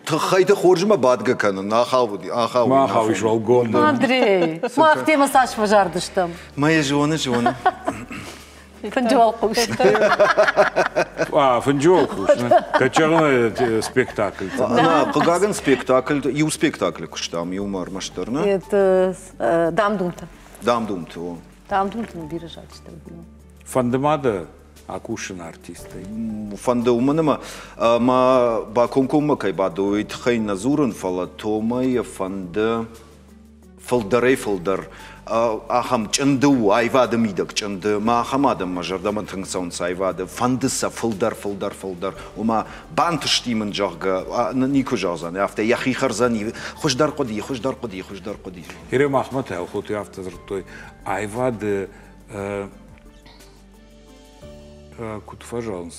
Тыххӕйты хорзмӕ бадгӕ кӕнын, ахауди, ахауди. Ма ахауис уӕлгоммӕ. Андрей, мах темӕ цас фӕзардыстӕм. Мӕ зоны, зоны. Фынджы уӕлхъус. А, фынджы уӕлхъус. Кӕчӕгъны спектакль. Нӕ, хъыгагӕн спектакль, иу спектаклы куыстам, иумӕ ӕрмӕстдӕр, нӕ? Это Дам-думты. Дам-думты, о. Дам-думты бирӕ зарджытӕ. Фӕнды ма дӕ акусын артистӕй? Фӕнды, уымӕн ӕмӕ мӕ бакомкоммӕ кӕй бады, уый тыххӕй нӕ дзурын, фӕлӕ Томайы фӕнды фылдӕрӕй фылдӕр ахӕм чъынды у, аивады мидӕг чъынды. Мӕ ахӕм адӕм мӕ зӕрдӕмӕ тынг цӕуынц аивады. Фӕнды сӕ фылдӕр, фылдӕр, фылдӕр. Ома бантысти мын, зӕгъгӕ, никуы зӕгъдзӕн, афтӕ йӕхи хӕрдзӕни, хуыздӕр хъуыди, хуыздӕр хъуыди, хуыздӕр хъуыди. Ире махмӕ та Елхоты афтӕ дзырдтой, аивады куыд фӕзӕгъынц,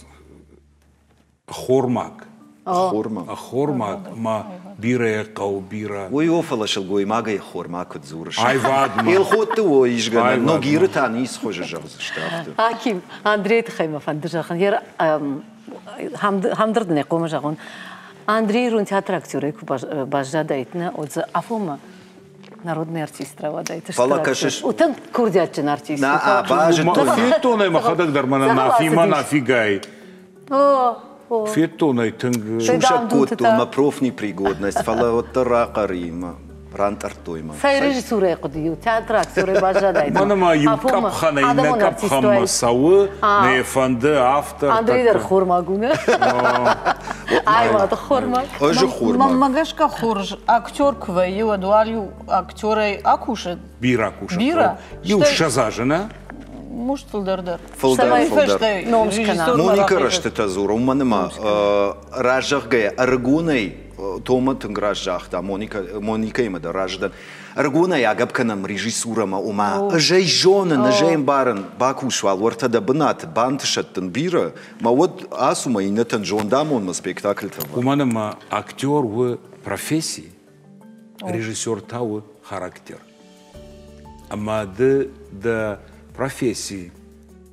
ӕххормаг. Ӕххормаг. Ӕххормаг ма бирӕ хъӕуы, бирӕ. Уый о, фӕлӕ сылгоймагӕй ӕххормаг куыд дзурыс. Аивадмӕ. Елхотты о исгӕнӕн, Ногиры та ницы хуызы зӕгъдзысты афтӕ. Аким, Андрейы тыххӕй мӕ фӕнды зӕгъын, хӕмдырд нӕ хъуамӕ зӕгъон. Андрей ирон театры актерӕй куы баззадаид, нӕ, уӕд дзы афонмӕ народный артист рауадаид. Фӕлӕ кӕсыс... У тынг курдиатджын артист. Нӕ, базыдтон. Федтон ӕй мӕхӕдӕг дӕр мӕнӕ Нафимӕ Нафигай. Федтон ӕй тынг... Сусӕг кодтон мӕ профнепригодность, фӕлӕ уӕддӕр рахъӕр и мӕ рантъӕрдтой мӕ. Цӕй режиссурӕйы хъуыды у, театры актерӕй баззадаид. Мӕнӕ ма иу къӕпхӕнӕй иннӕ къӕпхӕнмӕ цӕуы, нӕ фӕнды автор. Андрей дӕр хормаг у, нӕ? Аивады хормаг. Ӕз хормаг. Мӕнмӕ гӕсгӕ хорз актер куы вӕййы, уӕд уал-иу актерӕй акусы. Бирӕ кусы. Бирӕ. Иу ссӕдз азы, нӕ? Может, фылдӕр дӕр. Фылдӕр, фылдӕр. Ном скӕна. Моника рӕстытӕ дзуры, уымӕн ӕмӕ разӕгъгӕйӕ ӕрыгонӕй Тома тынг раст загъта, Моникӕимӕ дӕр разы дӕн. Ӕрыгонӕй агӕпп кӕнӕм режиссурӕмӕ, ома ӕз ӕй зонын, ӕз ӕй ӕмбарын, бакус уал уӕртӕ дӕ бынаты, бантысӕд дын бирӕ, мӕ уӕд ацу мӕ иннӕтӕн зондамонмӕ спектакльтӕ. Уымӕн ӕмӕ актер у професси, режиссер та у характер. Ӕмӕ ды дӕ професси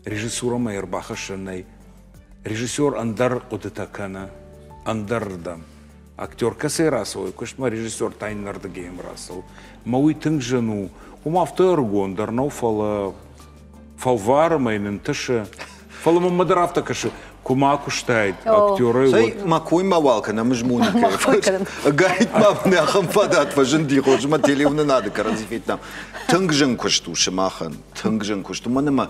режиссурӕмӕ ӕрбахӕссӕн нӕй. Режиссер ӕндӕр хъуыдытӕ кӕны, ӕндӕрырдӕм. Актер кӕцӕй рацӕуы, куыстмӕ режиссер та иннӕрдыгӕй рацӕуы. Мӕ уый тынг зын у. Уым афтӕ ӕрыгон дӕр нӕу, фӕлӕ фӕлвары мӕ йын ӕнтысы. Фӕлӕ мӕнмӕ дӕр афтӕ кӕсы, куы ма куыстаид актерӕй, уӕд... Мӕ кой ма уал кӕнӕм ӕз Моникӕйы. Гайд ма мын ахӕм фадат фӕзынди, хорз мӕ телеуынынады кӕрӕдзи федтам. Тынг зын куыст у сымахӕн, тынг зын куыст. Уымӕн ӕмӕ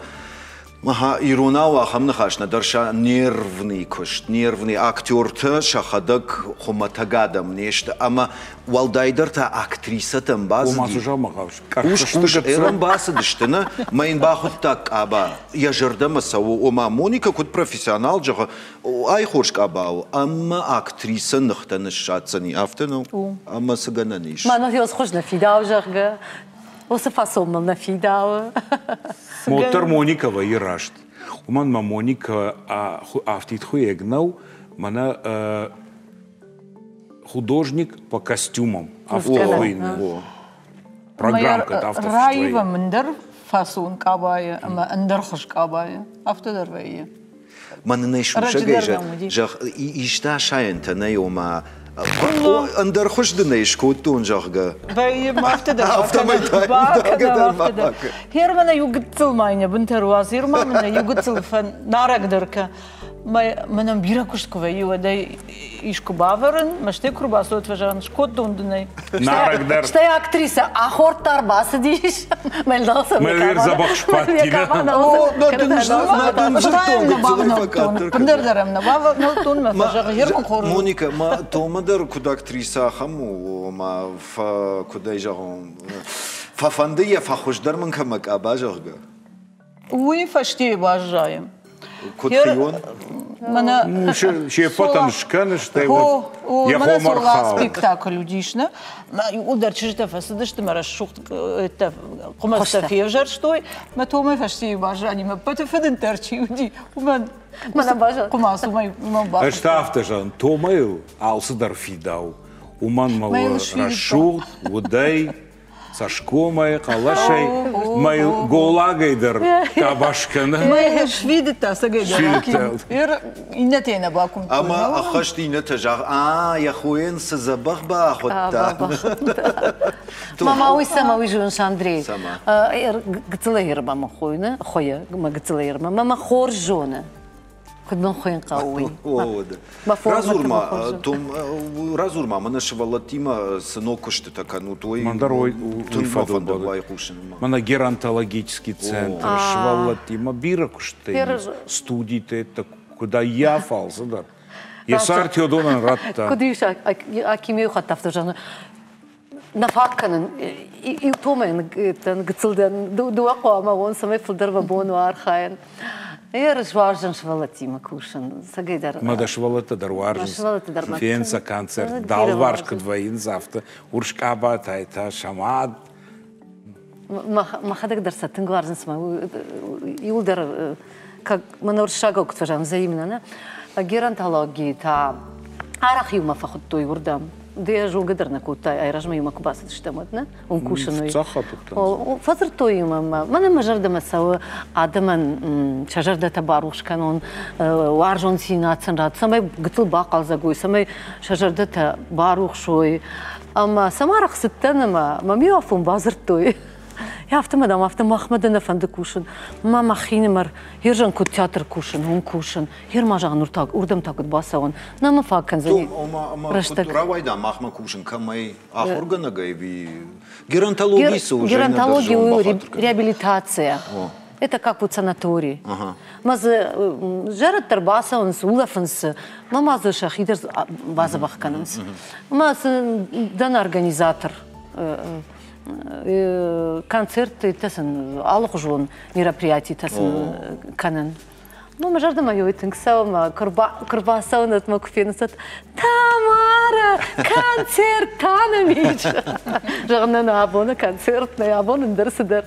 иронау ахӕм ныхас нӕдӕр сӕ нервный куыст, нервный актертӕ сӕхӕдӕг хуымӕтӕг адӕм не сты ӕмӕ уӕлдайдӕр та актрисӕтӕм бацыди. Хъус-хъус ӕрӕмбацыдысты, нӕ? Мӕ йын бахуыдта къаба. Йӕ зӕрдӕмӕ цӕуы, ома Моника куыд профессионал зӕгъы, ай хорз къаба у, ӕмӕ актрисӕ ныхтӕ ныссаддзӕни, афтӕ нӕу? Ӕмӕ цы гӕнӕн ис? Мӕнӕ хорз нӕ фидауы, зӕгъгӕ. Уыцы фасон мыл нӕ фидауы. Уӕддӕр Моника вӕййы раст. Уымӕн мӕ Моника афтид хуыйӕг нӕу, мӕнӕ художник по костюмам. Афтӕ хуыйны. Программкӕ афтӕ фыст вӕййы. Раивӕм ӕндӕр фасон къабайы ӕмӕ ӕндӕр хуыз къабайы. Афтӕ дӕр вӕййы. Мӕнӕн ӕй сусӕгӕй зӕгъ, исты асайӕнтӕ нӕй, ома ӕндӕр хуыз дын ӕй скодтон, зӕгъгӕ. Вӕййы, афтӕ дӕр бакӕнӕм, афтӕ дӕр. Гъер мӕнӕ иу гыццыл ма йын бынтӕ руадз, гъер ма мӕнӕ иу гыццыл фӕнарӕгдӕр кӕ. Мӕнӕн бирӕ куыст куы вӕййы, уӕд ӕй искуы бавӕрын, мӕ стӕй куы рбацӕуӕд, фӕзӕгъын, скодтон дын ӕй. Нарӕгдӕр. Стӕй актрисӕ ахордта ӕрбацыдис. Мӕлвер дзӕбӕх сбадти, нӕ? Ӕндӕр дӕр ӕм нӕ бавнӕлдтон, мӕ фӕзӕгъы, гъер мын хорз. Моника, ма Тома дӕр куыд актрисӕ ахӕм у, ома, куыд ӕй зӕгъон, фӕфӕнды йӕ фӕхуыздӕр мын кӕмӕ къаба, зӕгъгӕ? Уый фӕстейы баззайы. Куыд хион? Се ппӕтӕн скӕны, стӕй уӕд йӕ хомӕ рхауы. Спектакль уыдис, нӕ? Иууылдӕр чызджытӕ фӕцыдысты, мӕ рӕсугъд хъуымӕцтӕ февзӕрстой. Мӕ Томӕ фӕстейы баззади, мӕ ппӕты фыдынддӕр чи уыди, уымӕн хъуымац уымӕй бахуыдта. Ӕз та афтӕ зӕгъын, Томайыл алцыдӕр фидауы. Уымӕн мӕ у рӕсугъд, удӕй, цӕсгомӕй, хъӕлӕсӕй, мӕ голагӕй дӕр къабаз кӕны. Мӕ сфидыдта сӕгӕй дӕр. Иннӕтӕ нӕ бакуымдтой. Ӕмӕ ӕххӕст иннӕтӕ зӕгъ, а, йӕ хойӕн цы дзӕбӕх бахуыдта. Мама, уый цӕмӕ уый зоныс, Андрей? Гыццылӕй ӕрба мӕ хойы, хойы, мӕ гыццылӕй ӕрба, мӕ хорз зоны. Куыд мын хуыйын хъӕуы уый. Радзур-ма, Том, радзур-ма, мӕнӕ сывӕллӕттимӕ цы ног куыстытӕ кӕнут, уый тынг мӕ фӕнды байхъусынмӕ. Мӕнӕ геронтологический центр, сывӕллӕттимӕ бирӕ куыстытӕ, студитӕ, куыд ӕййаф алцыдӕр. Йӕ цард Теодонӕн радта. Куыд ис, Аким иу хатт афтӕ зӕгъы, нӕ фаг кӕнын, иу Томайӕн гыццыл дӕн, дыууӕ хъуамӕ уон, цӕмӕй фылдӕр мӕ бон уа архайын. Ӕз уарзын сывӕллӕттимӕ кусын, цӕгӕй дӕр. Мӕ дӕ сывӕллӕттӕ дӕр уарзынц. Фен сӕ концерт, далварс куыд вӕййынц, афтӕ урс къабатӕй та сӕ мад. Мӕхӕдӕг дӕр сӕ тынг уарзын, цыма иуылдӕр, как мӕнӕ уырыссагау куыд фӕзӕгъынц, взаимно, нӕ? Геронтологийы та арӕх иумӕ фӕхуыдтой уырдӕм. Ды йӕ зонгӕ дӕр нӕ кодтай, айразмӕ иумӕ куы бацыдыстӕм, уӕд, нӕ? Уым кусын уый. Фӕдзырдтой иумӕ. Мӕнӕ мӕ зӕрдӕмӕ цӕуы адӕмӕн сӕ зӕрдӕтӕ барухс кӕнон, уарзондзинад сын ратт, цӕмӕй гыццыл бахъӕлдзӕг уой, цӕмӕй сӕ зӕрдӕтӕ барухс уой. Ӕмӕ сӕм арӕх цыдтӕн ӕмӕ мӕм иу афон бадзырдтой. Афтӕ дам, афтӕ махмӕ дӕ нӕ фӕнды кусын. Ма мӕхинымӕр, ерзӕн куыд театр кусын, уым кусын. Ер ма зӕгъын, уырдӕм та куыд бацӕуын. Нӕ мӕ фаг кӕндзӕни рӕстӕг. Рауайда махмӕ кусын кӕмӕй? Ахуыргӕнӕгӕй ӕви геронтологи цы у? Геронтологи у реабилитация. Это как вот санаторий. Ма дзы зӕрӕдтӕ рбацӕуынц, улӕфынц, ма ма дзы сӕхи дӕр бадзӕбӕх кӕнынц. Ма сын дӕн организатор. Концерттӕ сын, алыхуызон мероприятитӕ сын кӕнын. Ну, мӕ зӕрдӕмӕ ёй тынг цӕуы, мӕ куы рбацӕуын, мӕ куы фенынц, Тамара, концерт та нӕм ис. Зӕгъын, нӕ абоны концерт нӕ, абон ӕндӕр цыдӕр.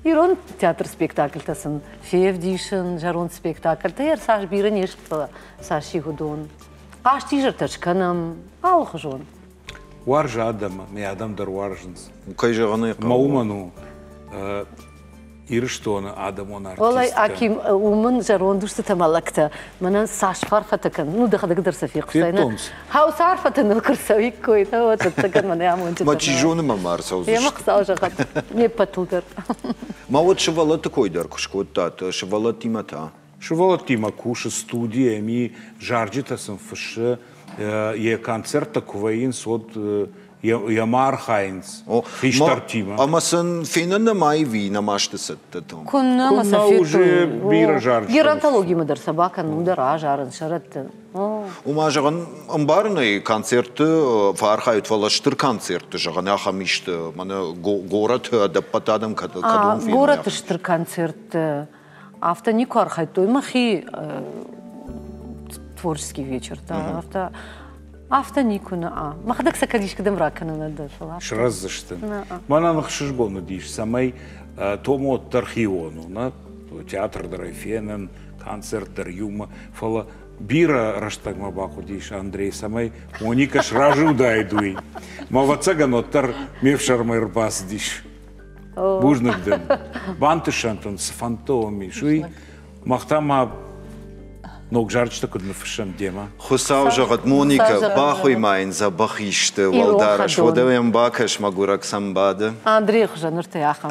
Ирон театр спектакльтӕ сын февдисын, зӕронд спектакльтӕ, йӕ цас бирӕ не сты, фӕлӕ цас и уыдон. Хъазтизӕртӕ скӕнӕм, алыхуызон. Уарзы адӕмы, мӕ адӕм дӕр уарзынц. Кӕй зӕгъын ӕй хъӕуы. Мӕ уымӕн у Ирыстоны адӕмон артисткӕ. Уӕлӕй, Аким, уымӕн зӕронд устытӕ мӕ лӕгтӕ мӕнӕн цас фарфӕтӕ кӕн, ну дӕхӕдӕг дӕр сӕ фехъуыстай. Федтон сӕ. Хаусы арфӕтӕ ныл куы рцӕуиккой, нӕ уӕд ӕцӕгӕн мӕнӕ амондджытӕ. Мӕ чи зоны, мӕ ма ӕрцӕудзысты. Емӕ Хуыцау зӕгъӕд, не ппӕтыл дӕр. Ма уӕд сывӕллӕтты кой дӕр куы скодтат, сывӕллӕттимӕ та? Сывӕллӕттимӕ кусы студийы, ӕмӕ зарджытӕ сын фыссы, йӕ концерттӕ куы вӕййынц, уӕд йӕ ма архайынц хистӕртимӕ. Ӕмӕ сын фенӕн нӕма ӕви нӕма сты цӕттӕ там? Куыннӕ ма сӕ уже бирӕ зарджытӕ. Геронтологимӕ дӕр сӕ бакӕнын, дӕр азарын, сӕрӕтты. Уымӕ, зӕгъын, ӕмбарын ӕй, концертты фӕархайут, фӕлӕ стыр концертты, зӕгъын, ахӕм исты, мӕнӕ горӕты ӕдӕппӕт адӕм кӕд уым феной. Горӕты стыр концертты афтӕ никуы архайдтой. Мӕхи творческий вечертӕ, афтӕ афтӕ никуы нӕ. Мӕхӕдӕг сӕ кӕд искуыдӕм ракӕнын дӕр, фӕлӕ. Срӕздзысты. Мӕнӕн ӕхсызгон уыдис, цӕмӕй Томо дӕр хион у, нӕ? Театр дӕр ӕй фенын, концерт дӕр иумӕ, фӕлӕ бирӕ рӕстӕгмӕ бахъуыдис Андрей, цӕмӕй Моника сразы уыдаид уый. Мӕ ӕвӕццӕгӕн уӕддӕр ме фсӕрмӕ ӕрбацыдис. Бузныг дын. Бантысӕнт ын, цы фӕндтӕ уӕм ис, уый. Мах та ма ног зарджытӕ куыд ныффыссӕм демӕ. Хуыцау зӕгъӕд, Моника, бахуый ма йын дзӕбӕх исты уӕлдарӕс, уӕдӕ йӕм бакӕс, мӕгуырӕг сӕм бады. Андрейы хуызӕн ныртӕ ахӕм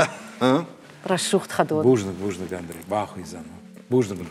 рӕсугъд хӕдон. Бузныг, бузныг, Андрей, бахуыйдзӕн. Бузныг.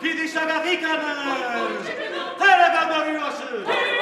Фидисагахиканы! Терегамариосы!